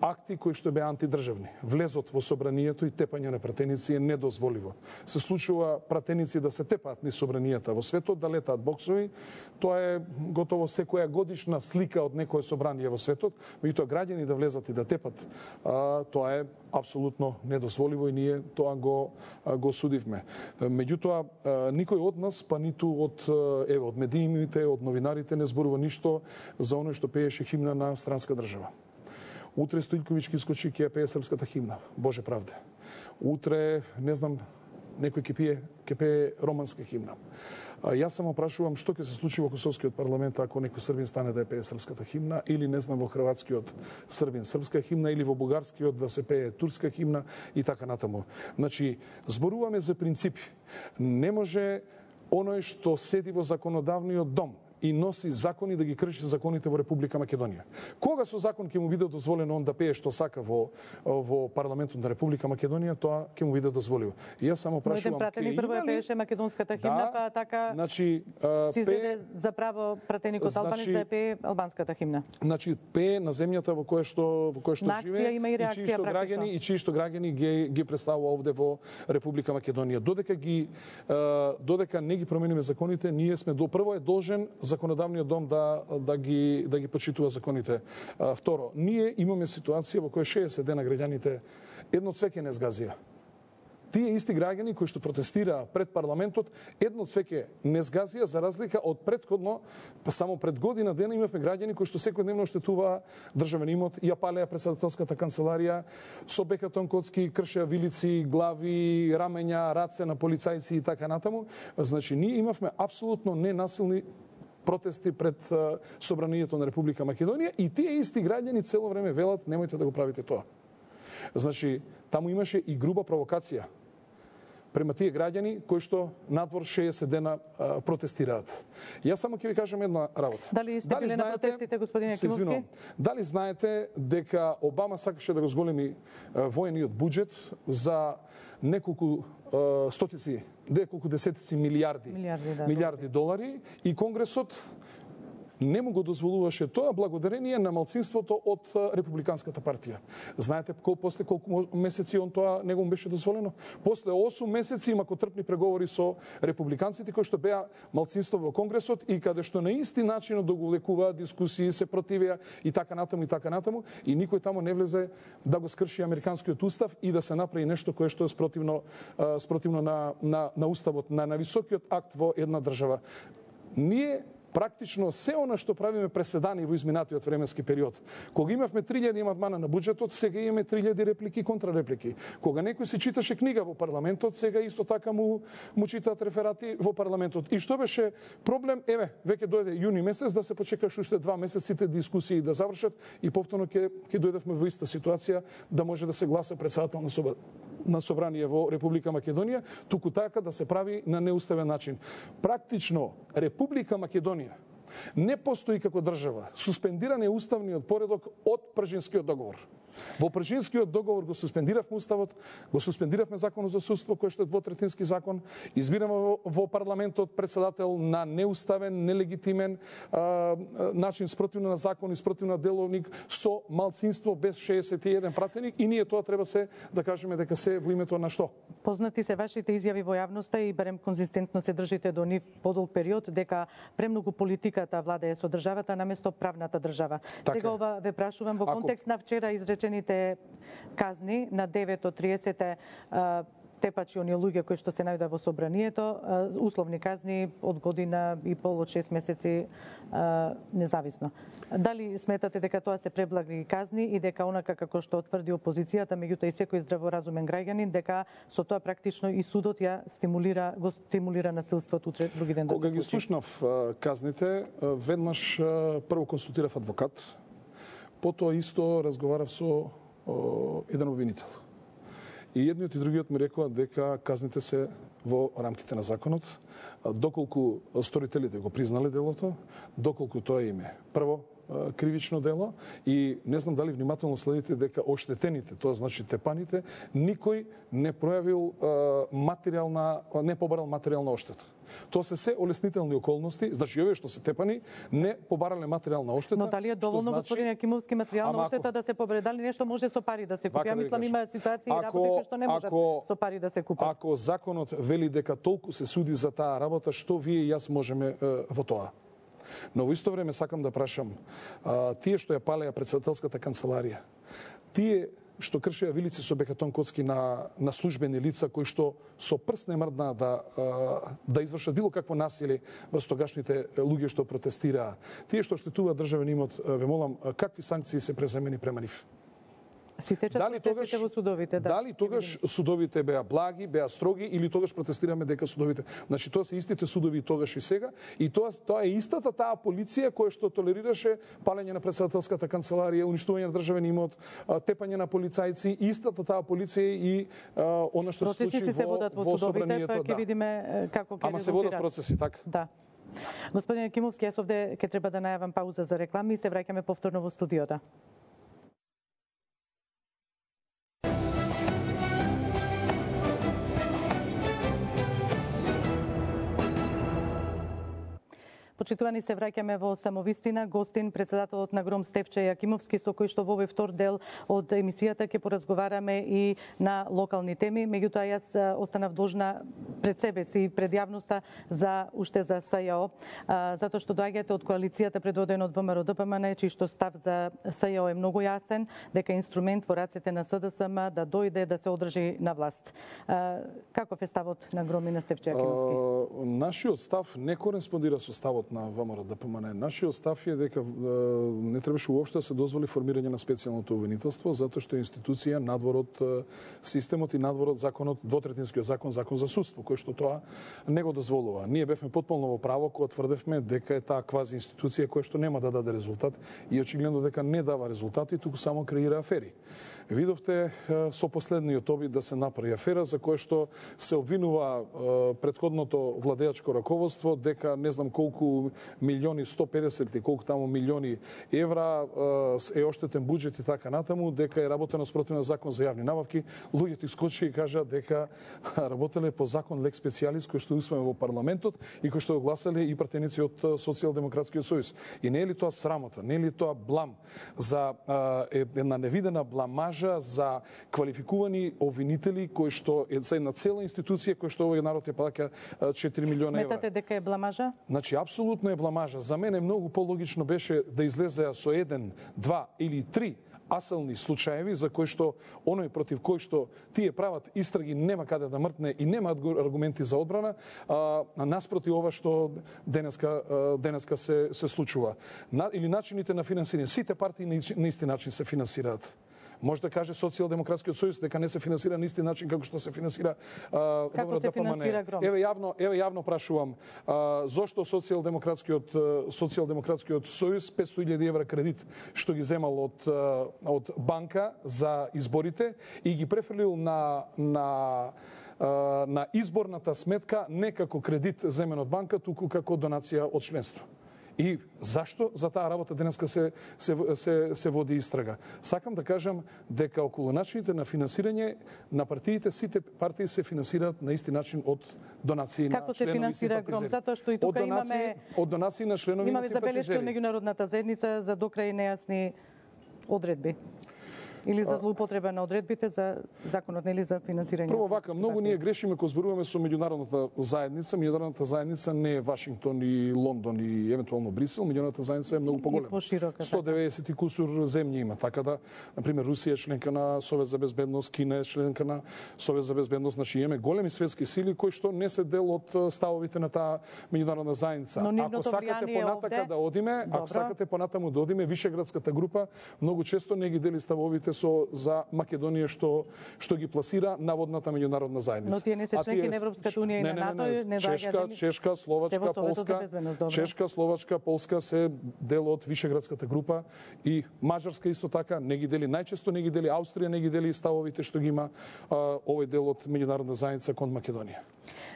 акти кои што беа антидржавни. Влезот во собранието и тепање на пратеници е недозволиво. Се случува пратеници да се тепаат низ собранијата во светот, да летаат боксови. Тоа е готово секоја годишна слика од некое собрание во светот, меѓутоа граѓани да влезат и да тепат, а, тоа е апсолутно недозволиво и ние тоа го го судивме. Меѓутоа никој од нас, па ниту од еве од медиумите, од новинарите не зборува ништо за оној што пееше химна на странска држава. Утре Стојковиќ ќе искочи ќе пее српската химна, Боже правде. Утре, не знам, некој ќе пие, ќе пее романска химна. А, јас само прашувам што ќе се случи во Косовскиот парламент ако некој србин стане да ја пее српската химна, или не знам во хрватскиот србин српска химна, или во бугарскиот да се пее турска химна и така натаму. Значи, зборуваме за принципи. Не може оној што седи во законодавниот дом и носи закони да ги крши законите во Република Македонија. Кога со закон ќе му биде дозволено он да пее што сака во во парламентот на Република Македонија, тоа ќе му биде дозволено. И јас само прашувам, пратеник прво ја пееше македонската химна, да, па така значи, си зеде за право пратеникот значи, албанец да ја пее албанската химна. Значи пее на земјата во која што во која што на живее има и, реакција, и чии што граѓани и чии што граѓани ги ги представува овде во Република Македонија. Додека ги додека не ги промениме законите, ние сме до прво е должен законодавниот дом да да ги да ги почитува законите. А, второ, ние имаме ситуација во која шеесет дена граѓаните едно цвеќе не згазија. Тие исти граѓани кои што протестираа пред парламентот едно цвеќе не згазија, за разлика од претходно, па само пред година дена имавме граѓани кои што секојдневно оштетуваа државен имот, ја палеа претседателската канцеларија, со бекатон коцки кршеа вилици, глави, рамења, раце на полицајци и така натаму. Значи ние имавме апсолутно ненасилни протести пред собранието на Република Македонија и тие исти граѓани цело време велат немојте да го правите тоа. Значи, таму имаше и груба провокација према тие граѓани кои што надвор шеесет дена а, протестираат. Јас само ќе ви кажам една работа. Дали сте били на протестите, господин Јакимовски? Дали знаете дека Обама сакаше да го зголеми а, воениот буџет за неколку а, стотици, неколку десетици милиарди, милиарди, да, милиарди долари и Конгресот не му го дозволуваше тоа благодарение на малцинството од Републиканската партија. Знаете колку после колку месеци он тоа него му беше дозволено? После осум месеци имако трпни преговори со републиканците кои што беа малцинство во Конгресот и каде што на исти начин да го лекуваа дискусии, се противеа и така натаму и така натаму и никој таму не влезе да го скрши американскиот устав и да се направи нешто кое што е спротивно спротивно на на на уставот, на нависокиот акт во една држава. Ние практично се она што правиме преседани во изминатиот временски период. Кога имавме три илјади амандмана на буџетот, сега имаме три илјади реплики и контрареплики. Кога некој се читаше книга во парламентот, сега исто така му му читаат реферати во парламентот. И што беше проблем? Еве, веќе дојде јуни месец да се почекаш уште два месеците дискусии да завршат и повторно ќе ќе дојдевме во иста ситуација да може да се гласа председател на собрание на собрание во Република Македонија, туку така да се прави на неуставен начин. Практично Република Македонија не постои како држава. Суспендиран е уставниот поредок од Пржинскиот договор. Во Пржинскиот договор го суспендиравме уставот, го суспендиравме законот за судство кој што е двотретински закон, избираме во, во парламентот председател на неуставен, нелегитимен а, начин спротивно на закон и спротивно на деловник со малцинство без шеесет и еден пратеник и ние тоа треба се да кажеме дека се во името на што? Познати се вашите изјави во јавноста и барем конзистентно се држите до нив подолг период дека премногу политиката владее со државата наместо правната држава. Така. Сега ова ве прашувам во контекст Ако... на вчера изречените казни на девет од триесет тепачи, оние луѓе кои што се најдоа во собранието, условни казни од година и пол, од шест месеци независно. Дали сметате дека тоа се преблаги казни и дека онака како што тврди опозицијата, меѓутоа и секој здраворазумен граѓанин, дека со тоа практично и судот ја стимулира, го стимулира насилството утре други ден да се случи? Кога ги слушнав казните, веднаш прво консултирав адвокат, потоа исто разговарав со о, еден обвинител. И едниот и другиот ми рекоа дека казните се во рамките на законот, доколку сторителите го признале делото, доколку тоа име прво кривично дело и не знам дали внимателно следите дека оштетените, тоа значи тепаните, никој не пројавил материјална, не побарал материјална оштета. Тоа се се олеснителни околности, значи овие што се тепани не побарале материјална оштета. Но дали е доволно, значи... господин Јакимовски, материјална оштета да се побаре? Дали нешто може со пари да се купи? Ја мислам има ситуации и работи кои што не можат ако, со пари да се купат. Ако законот вели дека толку се суди за таа работа, што вие и јас можеме е, во тоа? Но во исто време сакам да прашам, а, тие што ја палеа председателската канцеларија, тие што кршеа вилици со бекатон коцки на, на службени лица кои што со прст не мрднаа да, да извршат било какво насилие врз тогашните луѓе што протестираа, тие што штетуваат државен имот, ве молам, какви санкции се преземени према нив? Си течат процесите во судовите, да. Дали тогаш судовите беа благи, беа строги или тогаш протестираме дека судовите. Значи тоа се истите судови тогаш и сега и тоа тоа е истата таа полиција која што толерираше палење на председателската канцеларија, уништување на државен имот, тепање на полицајци, истата таа полиција и а, она што се случи се водат во, во судовите, па ќе да. видиме како ќе Ама се водат процеси, така? Да. Господин Јакимовски, јас овде ќе треба да најавам пауза за реклами и се враќаме повторно во студиото. Почитувани, се враќаме во Самовистина. Гостин, председателот на Гром Стефче Јакимовски, со кој што во овој втор дел од емисијата ќе поразговараме и на локални теми. Меѓутоа, јас останав должна пред себе си и пред јавноста за уште за СЈО, затоа што доаѓате од коалицијата предводена од ВМРО-ДПМН, чиј што став за СЈО е многу јасен, дека инструмент во рацете на СДСМ да дојде да се одржи на власт. Каков е ставот на Гром и на Стефче Јакимовски? Нашиот став не кореспондира со ставот на ВМРО-ДПМН. Нашиот став е дека не требаше уопште да се дозволи формирање на специјалното обвинителство, затоа што е институција надвор од системот и надвор од законот, двотретинскиот закон, закон за судство, кој што тоа не го дозволува. Ние бевме потполно во право кога тврдевме дека е таа квази институција која што нема да даде резултат и очигледно дека не дава резултати, туку само креира афери. Видовте со последниот обид да се направи афера за која што се обвинува претходното владеачко раководство дека не знам колку милиони, сто педесет или колку таму милиони евра е оштетен буџет и така натаму, дека е работено спротивно закон за јавни набавки. Луѓето искочи и кажа дека работеле по закон лек специјалис кој што усвоен во парламентот и кој што го гласале и пратеници од Социјалдемократскиот сојуз. И не е ли тоа срамота, не е ли тоа блам за една невидена бламажа за квалификувани обвинители кои што е за една цела институција која што овој народ ја плаќа четири милиона евра. Сметате дека е бламажа? Значи апсолутно е бламажа. За мене многу пологично беше да излезеа со еден, два или три асални случаеви за кои што оној против кој што тие прават истраги нема каде да мртне и нема аргументи за одбрана, а, наспроти ова што денеска денеска се се случува. На, или начините на финансирање. Сите партии на исти начин се финансираат. Може да каже Социјалдемократскиот сојуз дека не се финансира на исти начин како што се финансира а, како се финансира Гром? Еве јавно, еве јавно прашувам, а, зошто Социјалдемократскиот Социјалдемократскиот сојуз петстотини илјади евра кредит што ги земал од од банка за изборите и ги префрлил на на на изборната сметка не како кредит земен од банка, туку како донација од членство. И зашто за таа работа денеска се, се, се, се води истрага? Сакам да кажам дека околу начините на финансирање на партиите, сите партии се финансираат на исти начин од донации Како на членови и симпатизери. Како се финансира Гром? Затоа што и тука од донации, имаме... Од донации на членови имаме на симпатизери. Имаме забелешки од меѓународната заедница за докрај нејасни одредби. Или за злоупотреба на одредбите за законот, нели, за финансирање. Прво вака, многу ние грешиме кога зборуваме со меѓународната заедница. Меѓународната заедница не е Вашингтон и Лондон и евентуално Брисел. Меѓународната заедница е многу поголема. Поширока. сто деветдесет и кусур земји има, така да, на пример, Русија е членка на Совет за безбедност, Кина е членка на Совет за безбедност, значи имаме големи светски сили кои што не се дел од ставовите на таа меѓународна заедница. Ако сакате понатака овде... да одиме, Добро. ако сакате понатаму да одиме, Вишеградската група многу често не ги дели ставовите со за Македонија што што ги пласира наводната меѓународна заедница. Но тие не се членки на Европската унија и на НАТО, не, не, не, Чешка, Чешка, Словачка, Полска, Чешка, Словачка, Полска се дел од Вишеградската група и Мажарска исто така не ги дели, најчесто не ги дели Австрија, не ги дели ставовите што ги има а, овој дел од меѓународна заедница кон Македонија.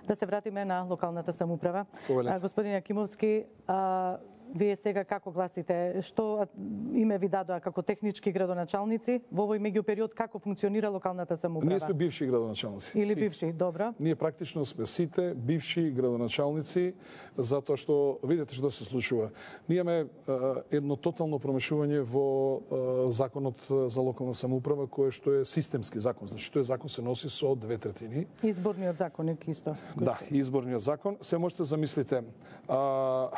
Да се вратиме на локалната самоуправа. Повелете. Господин Јакимовски, а, Вие сега како гласите? Што име ви дадоа како технички градоначалници? Во овој меѓупериод како функционира локалната самоуправа? Ние сме бивши градоначалници. Или Сите. бивши, добро. Ние практично сме сите бивши градоначалници, затоа што видите што се случува. Ние имаме едно тотално промешување во законот за локална самоуправа, кој што е системски закон. Значи тој закон се носи со две третини. Изборниот законник исто. Да, изборниот закон. Се можете замислите, а,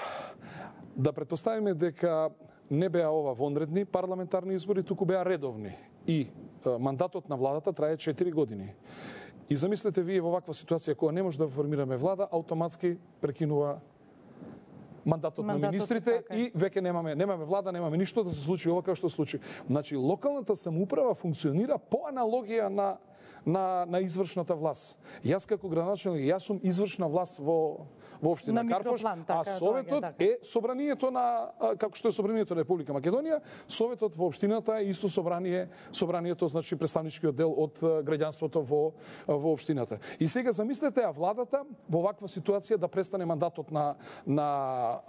да претпоставиме дека не беа ова вонредни парламентарни избори, туку беа редовни. И а, мандатот на владата трае четири години. И замислете вие во ваква ситуација кога не може да формираме влада, автоматски прекинува мандатот, мандатот на министрите така. И веќе немаме немаме влада, немаме ништо да се случи ова како што се случи. Значи локалната самоуправа функционира по аналогија на на на извршната власт. Јас како градоначалник, јас сум извршна власт во во општина Карпош, така, а советот така. Е собранието на како што е собранието на Република Македонија, советот во општината е исто собрание, собранието значи представничкиот дел од граѓанството во во општината. И сега замислете а владата во ваква ситуација да престане мандатот на на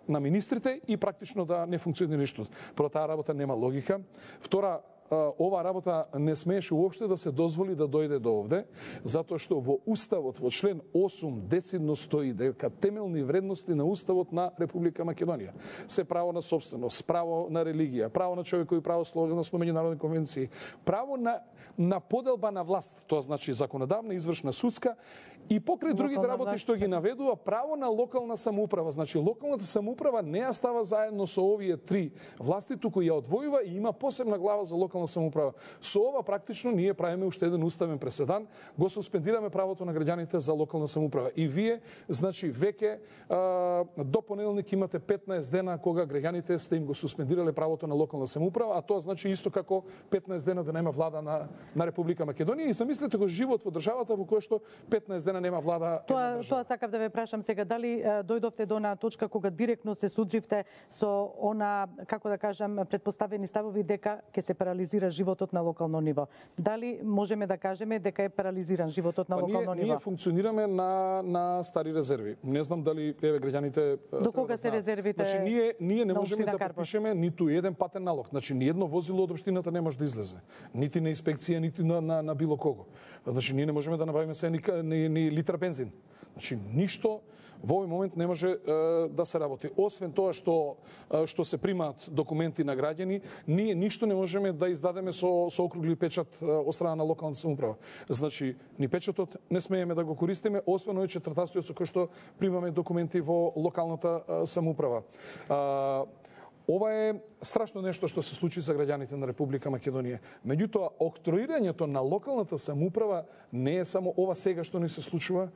на министрите и практично да не функционира ништо. Про таа работа нема логика. Втора, ова работа не смееше уопште да се дозволи да дојде до овде, затоа што во Уставот, во член осум, децидно стои дека темелни вредности на Уставот на Република Македонија се право на собственост, право на религија, право на човекови право согласно меѓународни конвенции, право на на поделба на власт, тоа значи законодавна, извршна, судска и покрај другите работи што ги наведува, право на локална самоуправа. Значи локалната самоуправа не ја става заедно со овие три власти, туку ја одвојува и има посебна глава за локална самоуправа. Со ова практично ние правиме уште еден уставен преседан, го суспендираме правото на граѓаните за локална самоуправа. И вие, значи, веќе до понеделник имате петнаесет дена кога граѓаните сте им го суспендирале правото на локална самоуправа, а тоа значи исто како петнаесет дена да нема влада на на Република Македонија. И замислете го живот во државата во која што петнаесет дена нема влада. Тоа тоа сакав да ве прашам сега, дали дојдовте до на точка кога директно се судривте со она, како да кажам, предпоставени ставови дека ќе се парализира животот на локално ниво. Дали можеме да кажеме дека е парализиран животот на па локално ние, ниво? Ние функционираме на на стари резерви. Не знам дали еве граѓаните до кога да се резервите? Значи ние ние не можеме да Карпош. подпишеме ниту еден патен налог. Значи ни едно возило од општината не може да излезе. Нити на инспекција, нити на на, на било кого. Значи ние не можеме да набавиме се ни, ни, ни литар бензин. Значи ништо во овој момент не може е, да се работи. Освен тоа што е, што се примаат документи на граѓани, ние ништо не можеме да издадеме со со округли печат е, од страна на локалната самоуправа. Значи ни печатот не смееме да го користиме, освен овој четвртастојот со кој што примаме документи во локалната е, самоуправа. А, ова е страшно нешто што се случи за граѓаните на Република Македонија. Меѓутоа, октроирањето на локалната самоуправа не е само ова сега што ни се случува.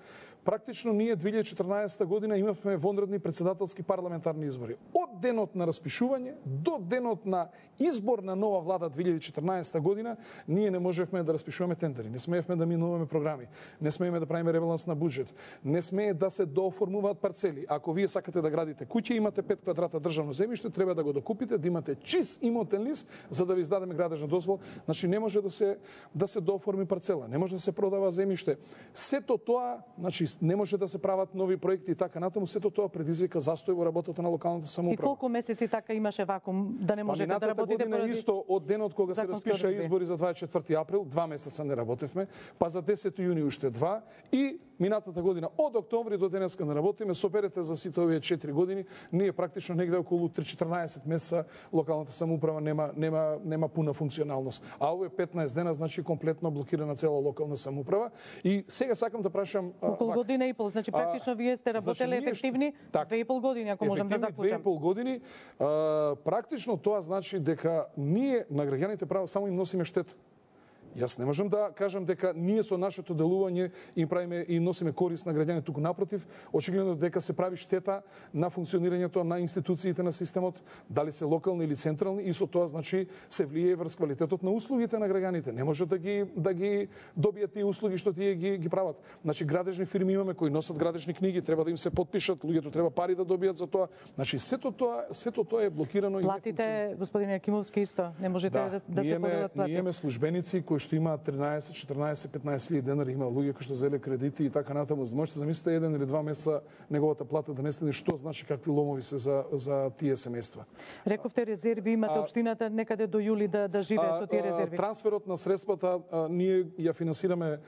Практично ние две илјади и четрнаесетта година имавме вонредни председателски парламентарни избори. Од денот на распишување до денот на избор на нова влада две илјади и четрнаесетта година ние не можевме да распишуваме тендери, не смеевме да минуваме програми, не смееме да правиме ребаланс на буџет, не смее да се дооформуваат парцели. Ако вие сакате да градите куќа, имате пет квадрата државно земјиште, треба да го докупите, да имате чист имотен лист за да ви издадеме градежна дозвола. Значи не може да се да се дооформи парцела, не може да се продава земјиште. Сето тоа, значи не може да се прават нови проекти и така натаму, сето тоа предизвика застој во работата на локалната самоуправа. И колку месеци така имаше вакуум да не можете да работите поради исто од денот кога се распиша избори за дваесет и четврти април, два месеца не работевме, па за десети јуни уште два и минатата година од октомври до денеска не работиме, соберете за сите овие четири години, ние практично негде околу три-четрнаесет месеца локалната самоуправа нема нема нема пуна функционалност. А овие петнаесет дена значи комплетно блокирана цела локална самоуправа. И сега сакам да прашам околу година и пол, значи практично а, вие сте работеле значи, ефективни так, две и пол години, ако можам да заклучам. две и пол години, а, практично тоа значи дека ние на граѓаните право само им носиме штета. Јас не можам да кажам дека ние со нашето делување им правиме и носиме корист на граѓаните, туку напротив, очигледно дека се прави штета на функционирањето на институциите на системот, дали се локални или централни, и со тоа значи се влијае врз квалитетот на услугите на граѓаните. Не може да ги да ги добијат тие услуги што тие ги ги прават. Значи градежни фирми имаме кои носат градежни книги, треба да им се потпишат, луѓето треба пари да добијат за тоа. Значи сето тоа сето тоа е блокирано. Платите, господине Јакимовски, исто не можете да, да, да се поделат плати. Ние имаме службеници кои што има тринаесет, четрнаесет, петнаесет илјади денари, има луѓе кои што зеле кредити и така натаму. Можете замислите еден или два месеца неговата плата да не стане, што значи какви ломови се за за тие семејства. Рековте резерви имате општината некаде до јули да да живее со тие резерви. Трансферот на средствата а, ние ја финансираме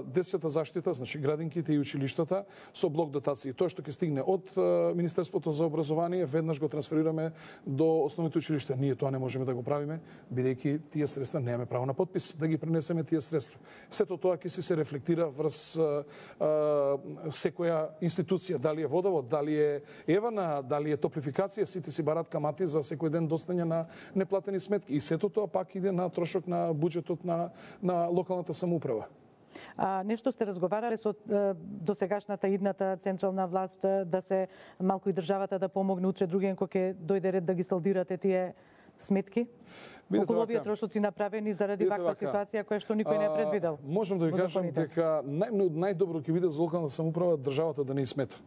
десета заштита, значи градинките и училиштата со блок дотации. Тоа што ќе стигне од а, Министерството за образование веднаш го трансферираме до основните училишта. Ние тоа не можеме да го правиме, бидејќи тие средства немаме право на подпис да ги пренесеме тие средства. Сето тоа ќе се рефлектира врз а, а, секоја институција, дали е водовод, дали е евана, дали е топлификација, сите си барат камати за секој ден достање на неплатени сметки. И сето тоа пак иде на трошок на буџетот на на локалната самоуправа. А, нешто сте разговарале со досегашната идната централна власт да се малку и државата да помогне утре другиен кога ќе дојде ред да ги салдирате тие сметки? Околу овие трошоци направени заради ваква ситуација која што никој не е предвидел. Можам да ви кажам дека нај, најдобро ќе биде за локална самоуправа државата да не смета.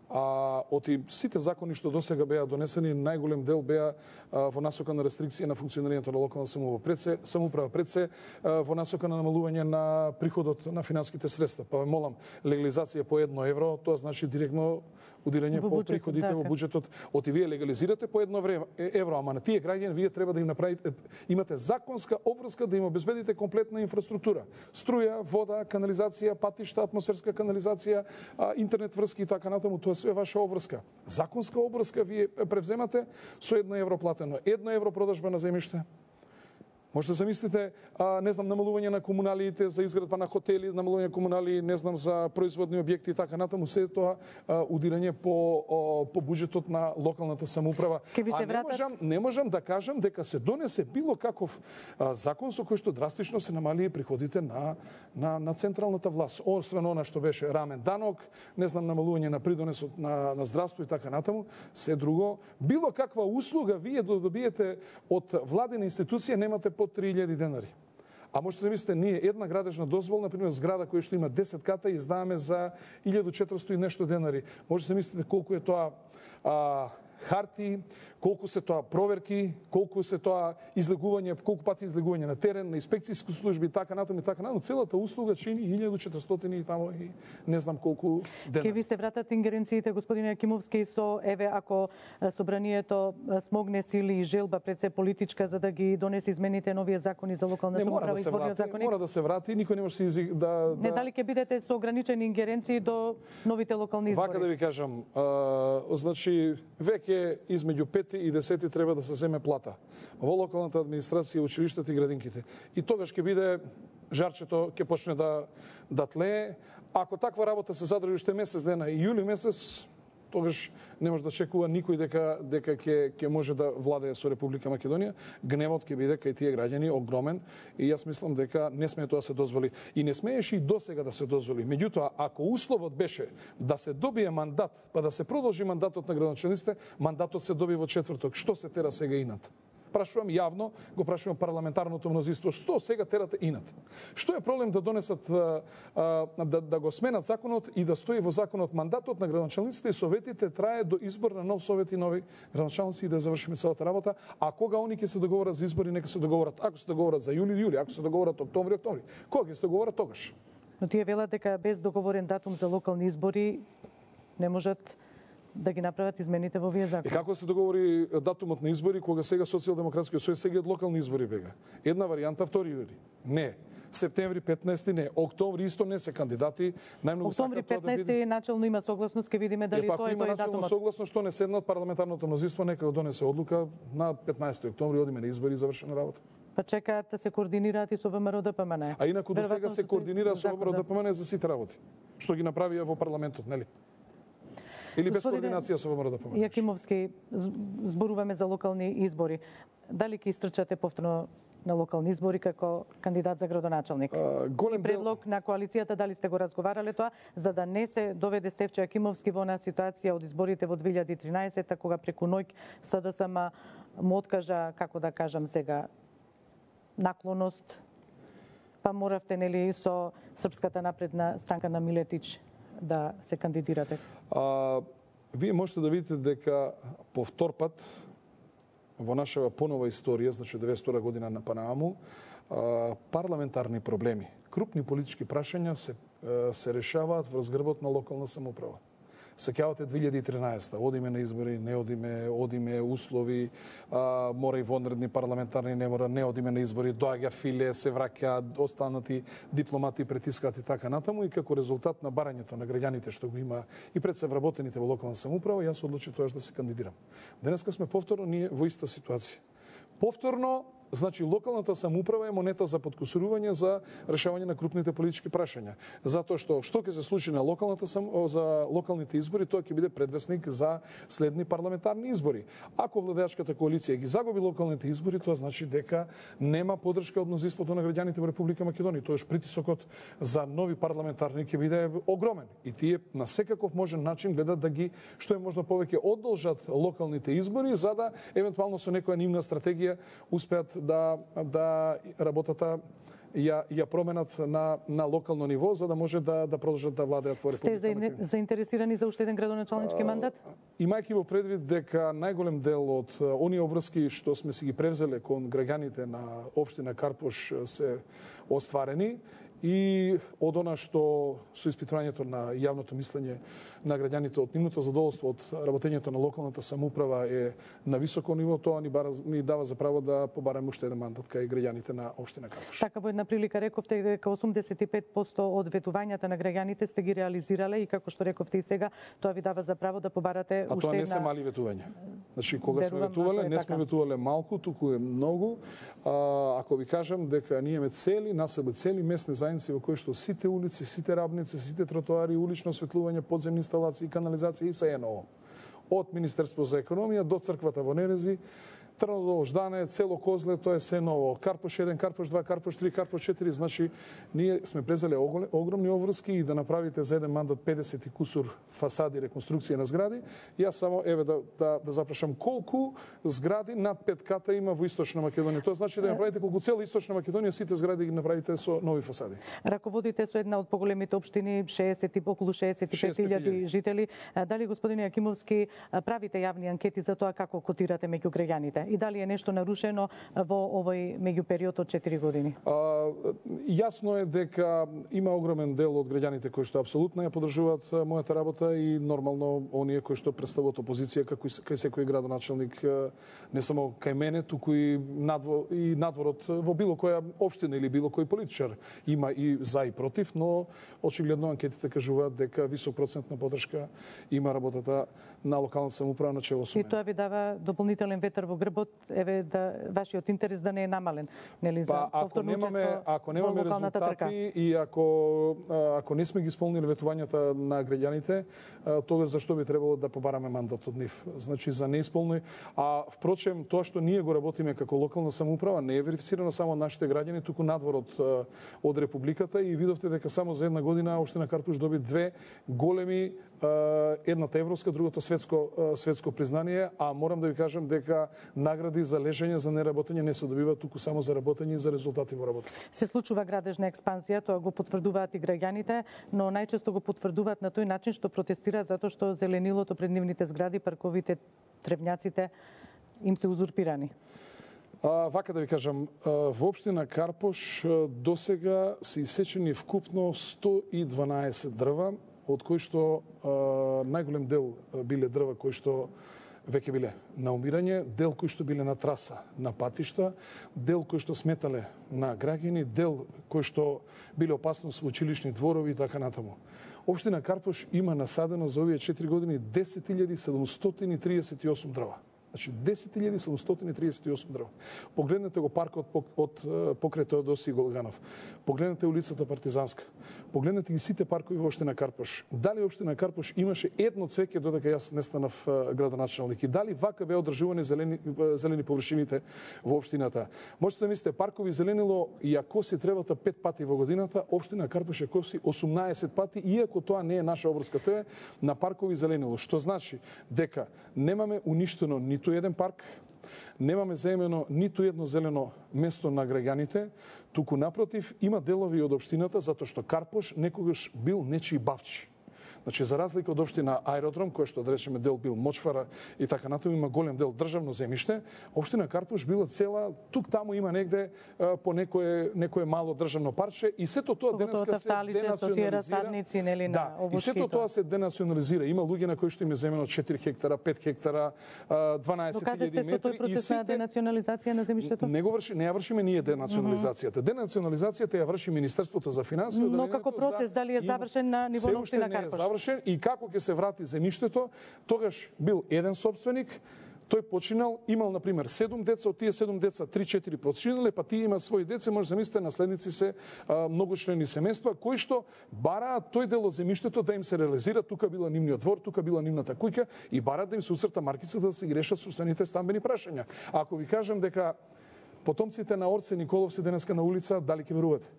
А од сите закони што досега беа донесени, најголем дел беа а, во насока на рестрикција на функционирањето на локална самоуправа. Пред се, самоуправа, пред се а, во насока на намалување на приходот на финансиските средства. Па ве молам, легализација по едно евро, тоа значи директно удирање по приходите во буџетот. Оти вие легализирате по едно време, евро, ама на тие граѓани вие треба да им направите, имате законска обврска да им обезбедите комплетна инфраструктура. Струја, вода, канализација, патишта, атмосферска канализација, интернет врски и така натаму, тоа све ваша обврска. Законска обврска вие превземате со едно евро платено, едно евро продажба на земјиште. Можете да замислите, а, не знам, намалување на комуналиите за изградба на хотели, намалување на комунали, не знам, за производни објекти и така натаму, се тоа а, удирање по о, по буџетот на локалната самоуправа. А не можам, не можам да кажам дека се донесе било каков а, закон со кој што драстично се намали приходите на на на централната власт. Освен она што беше рамен данок, не знам, намалување на придонесот на на здравство и така натаму, се друго, било каква услуга вие да добиете од владина институција немате по три илјади денари. А можете да мислите, ние една градежна дозвола, например, зграда која што има десет ката, издаваме за илјада и четиристотини и нешто денари. Можете да мислите колку е тоа а, харти, колку се тоа проверки, колку се тоа излегување, колку пати излегување на терен, на инспекцијски служби и така натаму и така натаму. Целата услуга чини илјада и четиристотини и тамо и не знам колку денари. Ке ви се вратат ингеренциите, господине Јакимовски, со еве ако собранието смогне сили и желба пред се политичка за да ги донесе измените новија закони за локална самоуправа и изборниот законник? Мора да се врати, никој не може да да Не дали ќе бидете со ограничени ингеренции до новите локални избори? Вака да ви кажам, а, значи веќе измеѓу пети и десети треба да се земе плата во локалната администрација, училиштата и градинките. И тогаш ќе биде жарчето ќе почне да да тлее. Ако таква работа се задржи уште месец дена и јули месец, тогаш не може да чекува никој дека дека ќе ќе може да владее со Република Македонија. Гневот ќе биде кај тие граѓани огромен и јас мислам дека не смее тоа да се дозволи и не смееше и досега да се дозволи. Меѓутоа, ако условот беше да се добие мандат, па да се продолжи мандатот на градоначалниците, мандатот се доби во четврток. Што се тера сега инат? Прашувам јавно, го прашувам парламентарното мнозинство, што сега терате инат? Што е проблем да донесат, да, да го сменат законот и да стои во законот мандатот на градоначалниците и советите трае до избор на нов совет и нови градоначалници и да завршиме целата работа, а кога они ќе се договорат за избори, нека се договорат. Ако се договорат за јули, јули, ако се договорат октомври, октомври. Кога ќе се договорат тогаш? Но тие велат дека без договорен датум за локални избори не можат да ги направат измените во овие закони. И како се договори датумот на избори кога сега Социјалдемократскиот сојуз сега од локални избори бега? Една варијанта втори јули. Не. Септември петнаесети не, октомври исто не се кандидати, најмногу октомври петнаесети да биде... начално има согласност, ќе видиме дали тоа е тој датумот. Согласно што не седнат парламентарното мнозинство, нека го донесе одлука на петнаесети октомври одиме на избори и завршена работа. Па чекаат да се координираат и со ВМРО Д П М Н. А инаку до сега се координира со ВМРО Д П М Н за сите работи, што ги направија во парламентот, нели? Или без координација со ВМРО Д П М Н. Јакимовски, зборуваме за локални избори. Дали ќе истрчате повторно на локални избори како кандидат за градоначалник? А, голем предлог дел... на коалицијата, дали сте го разговарале тоа, за да не се доведе Стефче Јакимовски во една ситуација од изборите во две илјади и тринаесета, кога преку ноќ С Д С М му откажа, како да кажам сега, наклоност, па моравте, нели, со Српската напредна странка на Милетич да се кандидирате? А, вие можете да видите дека по втор пат во нашава понова историја, значи деветстотина година на Панаму, парламентарни проблеми, крупни политички прашања се се решаваат врз грбот на локална самоуправа. Сеќавате две илјади и тринаесета, одиме на избори, не одиме, одиме услови, а, мора и вонредни парламентарни, не мора, не одиме на избори, доаѓа филе, се враќаат останати дипломати, притискаат и така натаму, и како резултат на барањето на граѓаните што го има и пред се вработените во локална самоуправа, јас одлучив тоа да се кандидирам. Денеска сме повторно ние во иста ситуација. Повторно, значи локалната самоуправа е монета за подкусурување за решавање на крупните политички прашања. Затоа што што ќе се случи на локалната сам, за локалните избори, тоа ќе биде предвесник за следни парламентарни избори. Ако владеачката коалиција ги загуби локалните избори, тоа значи дека нема поддршка од мнозинството на граѓаните во Република Македонија. Тоеш притисокот за нови парламентарни ќе биде огромен и тие на секаков можен начин гледат да ги што е можно повеќе одолжат локалните избори, за да евентуално со некоја нивна стратегија успеат да да работата ја ја променат на на локално ниво, за да може да да продолжат да владеат во Република Македонија. Сте заинтересирани за уште еден градоначалнички мандат? Имајќи во предвид дека најголем дел од оние обврски што сме си ги превзеле кон граѓаните на општина Карпош се остварени, и од она што со испитувањето на јавното мислење на граѓаните од нивното задоволство од работењето на локалната самоуправа е на високо ниво, тоа ни, бара, ни дава за право да побараме уште еден мандат кај граѓаните на општина Карпош. Така во една прилика рековте дека осумдесет и пет проценти од ветувањата на граѓаните сте ги реализирале и како што рековте и сега, тоа ви дава за право да побарате а уште една... А тоа не се мали ветувања. Значи кога сме ветувале, не сме ветувале малку, туку е многу. А, ако ви кажам дека ние имаме цели населби, цели местни заедници во кои што сите улици, сите рабници, сите тротоари, улично осветлување, подземни инсталации, канализација и се е ново. Од Министерство за економија до црквата во Нерези, Трнодол, Ждане, цело Козле, тоа е се ново. Карпош еден, Карпош два, Карпош три, Карпош четири, значи ние сме презеле огромни обврски и да направите за еден мандат педесет и кусур фасади, реконструкција на згради. Јас само еве да да, да запрашам колку згради над пет ката има во Источна Македонија. Тоа значи да направите колку цела Источна Македонија сите згради ги направите со нови фасади. Раководите со една од поголемите општини, шеесет и околу шеесет и пет илјади жители. Дали господин Јакимовски правите јавни анкети за тоа како котирате меѓу граѓаните? И дали е нешто нарушено во овој меѓупериод од четири години? А, јасно е дека има огромен дел од граѓаните кои што апсолутно ја поддржуваат мојата работа и нормално оние кои што представуваат опозиција како кај секој градоначалник, не само кај мене, туку и надвор, и надворот во било која општина или било кој политичар има и за и против, но очигледно анкетите кажуваат дека висок процент на поддршка има работата на локалната самоуправа на чело со мене. И тоа ви дава дополнителен ветер во грбот, еве да вашиот интерес да не е намален, нели, за па, повторно учество ако немаме резултати трка. И ако ако не сме ги исполнили ветувањата на граѓаните, тогаш зашто би требало да побараме мандат од нив? Значи за неисполни, а впрочем тоа што ние го работиме како локална самоуправа не е верифицирано само од нашите граѓани, туку надвор од од републиката и видовте дека само за една година општина Карпуш доби две големи, едната европска, другото светско светско признание, а морам да ви кажам дека награди за лежење, за неработење не се добива, туку само за работење и за резултати во работа. Се случува градежна експанзија, тоа го потврдуваат и граѓаните, но најчесто го потврдуваат на тој начин што протестираат затоа што зеленилото пред нивните згради, парковите, тревњаците им се узурпирани. А, вака да ви кажам, во општина Карпош досега се исечени вкупно сто и дванаесет дрва, од кои што а, најголем дел биле дрва кои што веќе биле на умирање, дел кои што биле на траса на патишта, дел кои што сметале на граѓани, дел кои што биле опасност во училишни дворови и така натаму. Општина Карпош има насадено за овие четири години десет илјади седумстотини и триесет и осум дрва. Значи десет илјади седумстотини и триесет и осум дрва. Погледнете го паркот од покрај Теодоси Голганов. Погледнете улицата Партизанска. Погледнете ги сите паркови во општина Карпош. Дали општина Карпош имаше едно цвеќе додека јас не станав градоначалник и дали вака беа одржувани зелени зелени површините во општината? Може се мислите паркови зеленило ја коси тревата пет пати во годината, општина Карпош ја коси осумнаесет пати, иако тоа не е наша обврска, тоа е на паркови зеленило, што значи дека немаме уништено ниту еден парк, немаме заемено ниту едно зелено место на граѓаните, туку напротив има делови од општината затоа што Карпош некогаш бил нечии бавчи. Значи за разлика од општина Аеродром, кој што да речеме дел бил мочвара и така натаму, има голем дел државно земјиште, општина Карпуш била цела, тук таму има негде по некое некое мало државно парче и сето тоа денеска се денационализира. Нели, да, и сето тоа се денационализира. Има луѓе на кои што им е земено четири хектара, пет хектара, дванаесет илјади метри. Каде сте со тој процес на денационализација на земјиштето? Не го врши, не ја вршиме ние денационализацијата. Денационализацијата ја врши Министерството за финансии. Но како процес дали е завршен на ниво на општина Карпуш? Се уште не е завршен и како ќе се врати земјиштето, тогаш бил еден собственик. Тој починал, имал, например, седум деца, од тие седум деца, три-четири починале, па тие има своји деца, може замислите, наследници се а, многочлени семејства, кои што бараат тој дел од земјиштето да им се реализира, тука била нивниот двор, тука била нивната куќа и бараат да им се уцрта маркица да се ги решат собствените стамбени прашања. Ако ви кажам дека потомците на Орце Николов се денеска на улица, дали ќе верувате?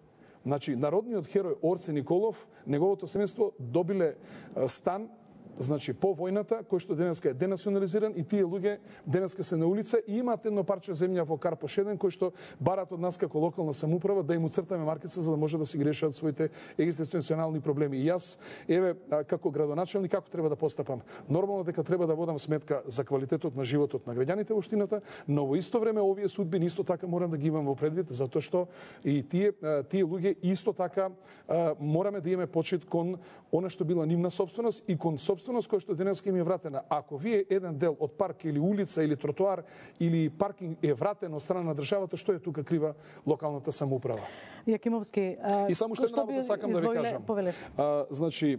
Значи, народниот херој Орце Николов, неговото семејство добиле а, стан, значи по војната, кој што денеска е денационализиран и тие луѓе денеска се на улица и имаат едно парче земја во Карпуш еден кој што барат од нас како локална самоуправа да им уцртаме маркица за да може да си ги решат своите екзистенционални проблеми. И јас еве како градоначелник како треба да постапам. Нормално дека треба да водам сметка за квалитетот на животот на граѓаните во општината, но во исто време овие судбини исто така морам да ги имам во предвид затоа што и тие тие луѓе исто така мораме да имаме почит кон она што била нивна сопственост и кон сопственост кој што денеска им е вратена. Ако вие еден дел од парк или улица или тротоар или паркинг е вратен од страна на државата, што е тука крива локалната самоуправа? Јакимовски, а, и само што една работа сакам да ви кажам. А, значи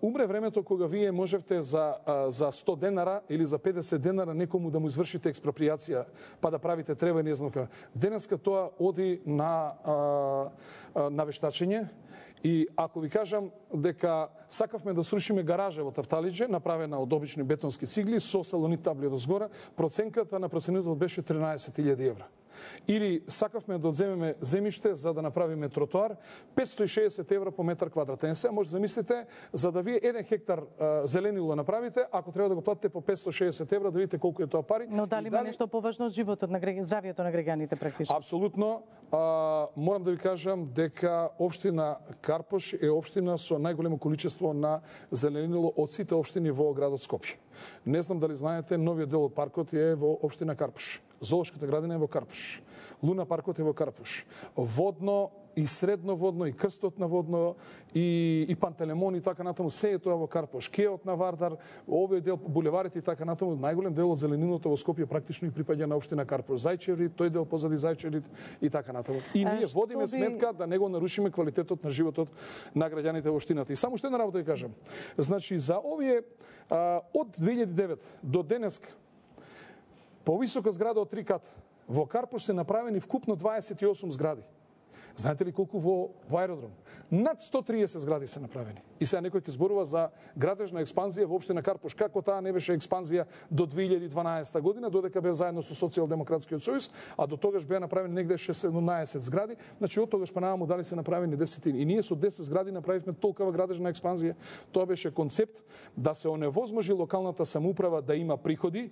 умре времето кога вие можевте за за сто денара или за педесет денара некому да му извршите експроприација, па да правите трева и не знам како. Денеска тоа оди на на вештачење. И ако ви кажам дека сакавме да срушиме гаража во Тафталиџе, направена од обични бетонски цигли со салонит табли од згора, проценката на проценител беше тринаесет илјади евра. Или сакавме да одземеме земјиште за да направиме тротоар, петстотини и шеесет евра по метар квадратен. Сега може да замислите, за да вие еден хектар а, зеленило направите, ако треба да го платите по петстотини и шеесет евра, да видите колку е тоа пари. Но дали има дали... нешто поважно од животот на граѓаните, здравието на граѓаните практично? Апсолутно. А, морам да ви кажам дека општина Карпуш е општина со најголемо количество на зеленило од сите општини во градот Скопје. Не знам дали знаете, новиот дел од паркот е во општина Карпуш. Зоолошката градина е во Карпуш. Луна паркот е во Карпуш. Водно и средно водно, и крстот на водно, и, и Пантелемон и така натаму, се е тоа во Карпуш. Кеот на Вардар, овој дел, булеварите и така натаму, најголем дел од зелениното во Скопје практично и припаѓа на општина Карпуш. Зајчеври, тој дел позади Зајчеврите и така натаму. И ние водиме би... сметка да не го нарушиме квалитетот на животот на граѓаните во општината. И само што една работа ви кажам. Значи, за овие, а, од две илјади и девет до денеска, повисока зграда од три ката, во Карпуш се направени вкупно дваесет и осум згради. Знаете ли колку во, во Аеродром? Над сто триесет згради се направени. И сега некој ќе зборува за градежна експанзија во општина Карпуш. Како таа не беше експанзија до две илјади и дванаесета година, додека бев заедно со Социјалдемократскиот сојуз, а до тогаш беа направени негде шеснаесет згради, значи од тогаш па наваму дали се направени десетини. И ние со десет згради направивме толкова градежна експанзија. Тоа беше концепт да се оневозможи локалната самоуправа да има приходи.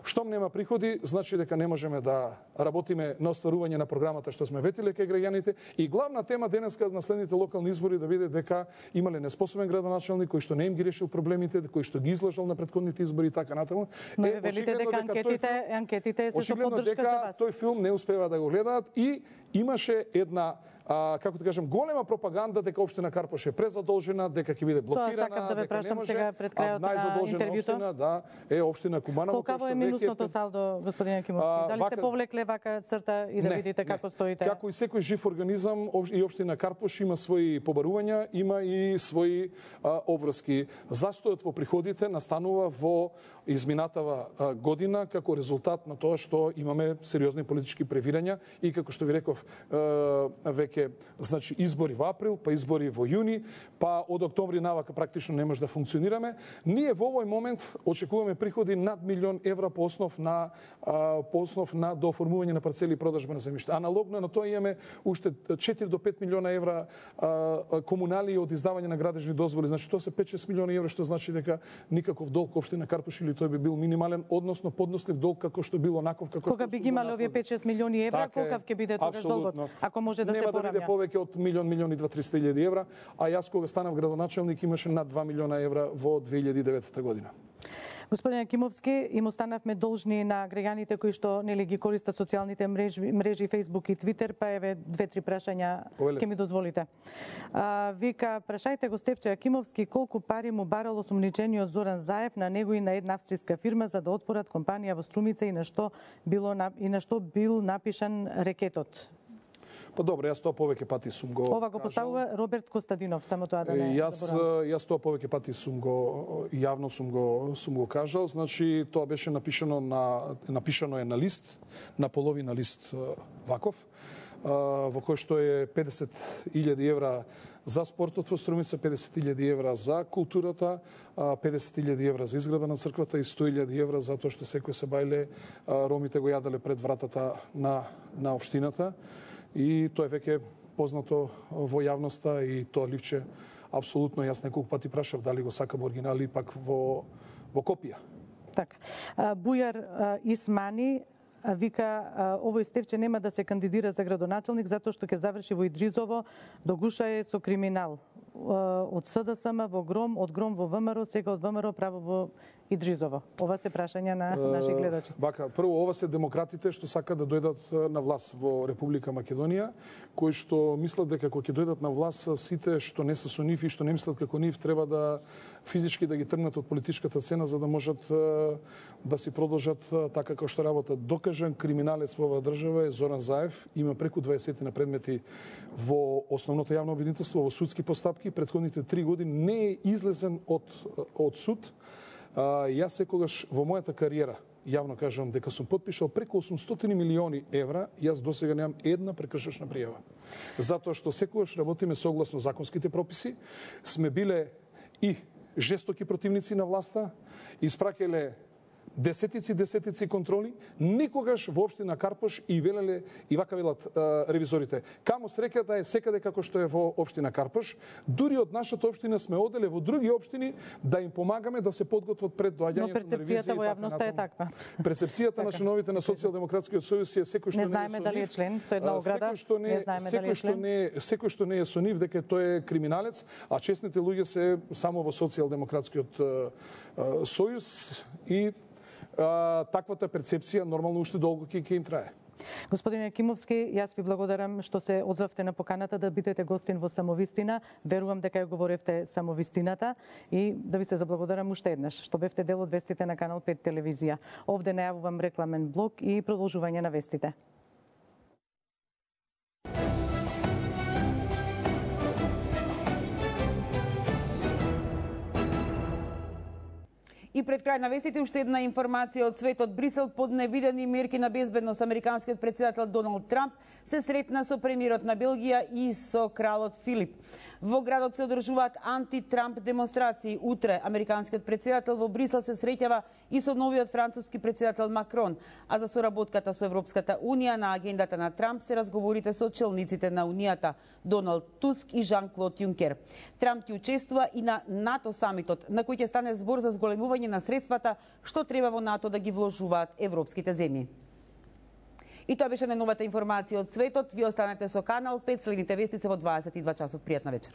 Штом нема приходи, значи дека не можеме да работиме на остварување на програмата што сме ветиле кај граѓаните. И главна тема денеска на следните локални избори да биде дека имале неспособен градоначелник кој што не им ги решил проблемите, кој што ги излажал на претходните избори и така натаму. Но е, велите дека анкетите, филм, анкетите се со поддршка за вас. Тој филм не успева да го гледаат и имаше една а, како да кажам, голема пропаганда дека општина Карпуш е презадолжена, дека ќе биде блокирана, тоа сакам да ве прашам сега пред крајот на интервјуто. Општина, да, е општина Куманово. Колкаво е минусното салдо, господин Јакимовски? Дали сте повлекле вака црта и да не, видите како не. стоите? Како и секој жив организам, и општина Карпуш има своји побарувања, има и своји а, обврски. Застојот во приходите настанува во изминатава а, година како резултат на тоа што имаме сериозни политички превирања и како што ви реков а, веќе, значи избори во април, па избори во јуни, па од октомври навака практично не може да функционираме. Ние во овој момент очекуваме приходи над милион евра по основ на а, по основ на дооформување на парцели и продажба на земјиште. Аналогно на тоа имаме уште четири до пет милиона евра а, комунали од издавање на градежни дозволи. Значи тоа се пет-шест милиони евра, што значи дека никаков долг општина Карпуш или тој би бил минимален, односно поднослив долг како што било онаков како кога би ги имале овие пет-шест милиони евра, колкав ќе биде тогаш долгот? Ако може да се поради биде повеќе од милион, милион и дваесет илјади евра, а јас кога станав градоначелник имаше над два милиона евра во две илјади и девета година. Господин Акимовски, им останавме должни на граѓаните кои што нели ги користат социјалните мрежи, мрежи Facebook и Twitter, па еве две-три прашања ќе ми дозволите. А, вика, прашајте го Стефче Акимовски колку пари му барал осумничениот Зоран Заев на него и на една австријска фирма за да отворат компанија во Струмица и на што било и на што бил напишан рекетот. Па добро, јас тоа повеќе пати сум го Ова го поставува Роберт Костадинов, само тоа да не јас јас тоа повеќе пати сум го јавно сум го сум го кажал, значи тоа беше напишано на напишано е на лист, на половина лист ваков, во кој што е педесет илјади евра за спортот во Струмица, педесет илјади евра за културата, педесет илјади евра за изградба на црквата и сто илјади евра за тоа што секој се бајле ромите го јаделе пред вратата на на општината. И тоа е веќе познато во јавноста и тоа ливче апсолутно јас неколку пати прашав дали го сакам оригинал или пак во во копија. Така. Бујар Исмани вика овој Стефче нема да се кандидира за градоначелник затоа што ќе заврши во Идризово, до гуша е со криминал. Од СДСМ во Гром, од Гром во ВМРО, сега од ВМРО право во Идризово. Ова се прашања на наши гледачи. Бака, прво ова се демократите што сакаат да дојдат на власт во Република Македонија, кои што мислат дека кога ќе дојдат на власт сите што не се со нив и што не мислат како нив треба да физички да ги тргнат од политичката сцена за да можат да си продолжат така како што работат. Докажан криминалец во оваа држава е Зоран Заев, има преку дваесет на предмети во основното јавно обвинителство, во судски постапки, претходните три години не е излезен од од суд. А, јас секогаш во мојата кариера, јавно кажам дека сум потпишал преку осумстотини милиони евра, јас досега немам една прекршечна пријава. Затоа што секогаш работиме согласно законските прописи, сме биле и жестоки противници на власта, испраќале десетици, десетици контроли, никогаш во општина Карпош и велеле, и вака велат а, ревизорите, камо среќата е секаде како што е во општина Карпош, дури од нашата општина сме оделе во други општини да им помагаме да се подготват пред доаѓањето на ревизија. Но перцепцијата во јавноста е таква. Перцепцијата на членовите на Социјалдемократскиот сојуз е секој што не, не знаеме дали е член со една ограда, секој што не, не знаеме дали е член. Не, секој што не е со нив дека тој е криминалец, а честните луѓе се само во Социјалдемократскиот сојуз и А, таквата перцепција нормално уште долго ќе им трае. Господине Акимовски, јас ви благодарам што се озвавте на поканата да бидете гостин во Самовистина. Верувам дека ја говоревте самовистината и да ви се заблагодарам уште еднаш што бевте дел од вестите на Канал пет телевизија. Овде најавувам рекламен блок и продолжување на вестите. И пред крај на вестите уште една информација од светот. Брисел под невидени мерки на безбедност. Американскиот претседател Доналд Трамп се сретна со премиерот на Белгија и со кралот Филип. Во градот се одржуваат анти-Трамп демонстрации. Утре американскиот претседател во Брисел се среќава и со новиот француски претседател Макрон. А за соработката со Европската унија на агендата на Трамп се разговорите со челниците на унијата Доналд Туск и Жан-Клод Јункер. Трамп ќе учествува и на НАТО самитот, на кој ќе стане збор за зголемување на средствата што треба во НАТО да ги вложуваат европските земји. И тоа беше најновата информација од светот. Ви останете со Канал пет, следните вести се во дваесет и два часот. Пријатна вечер.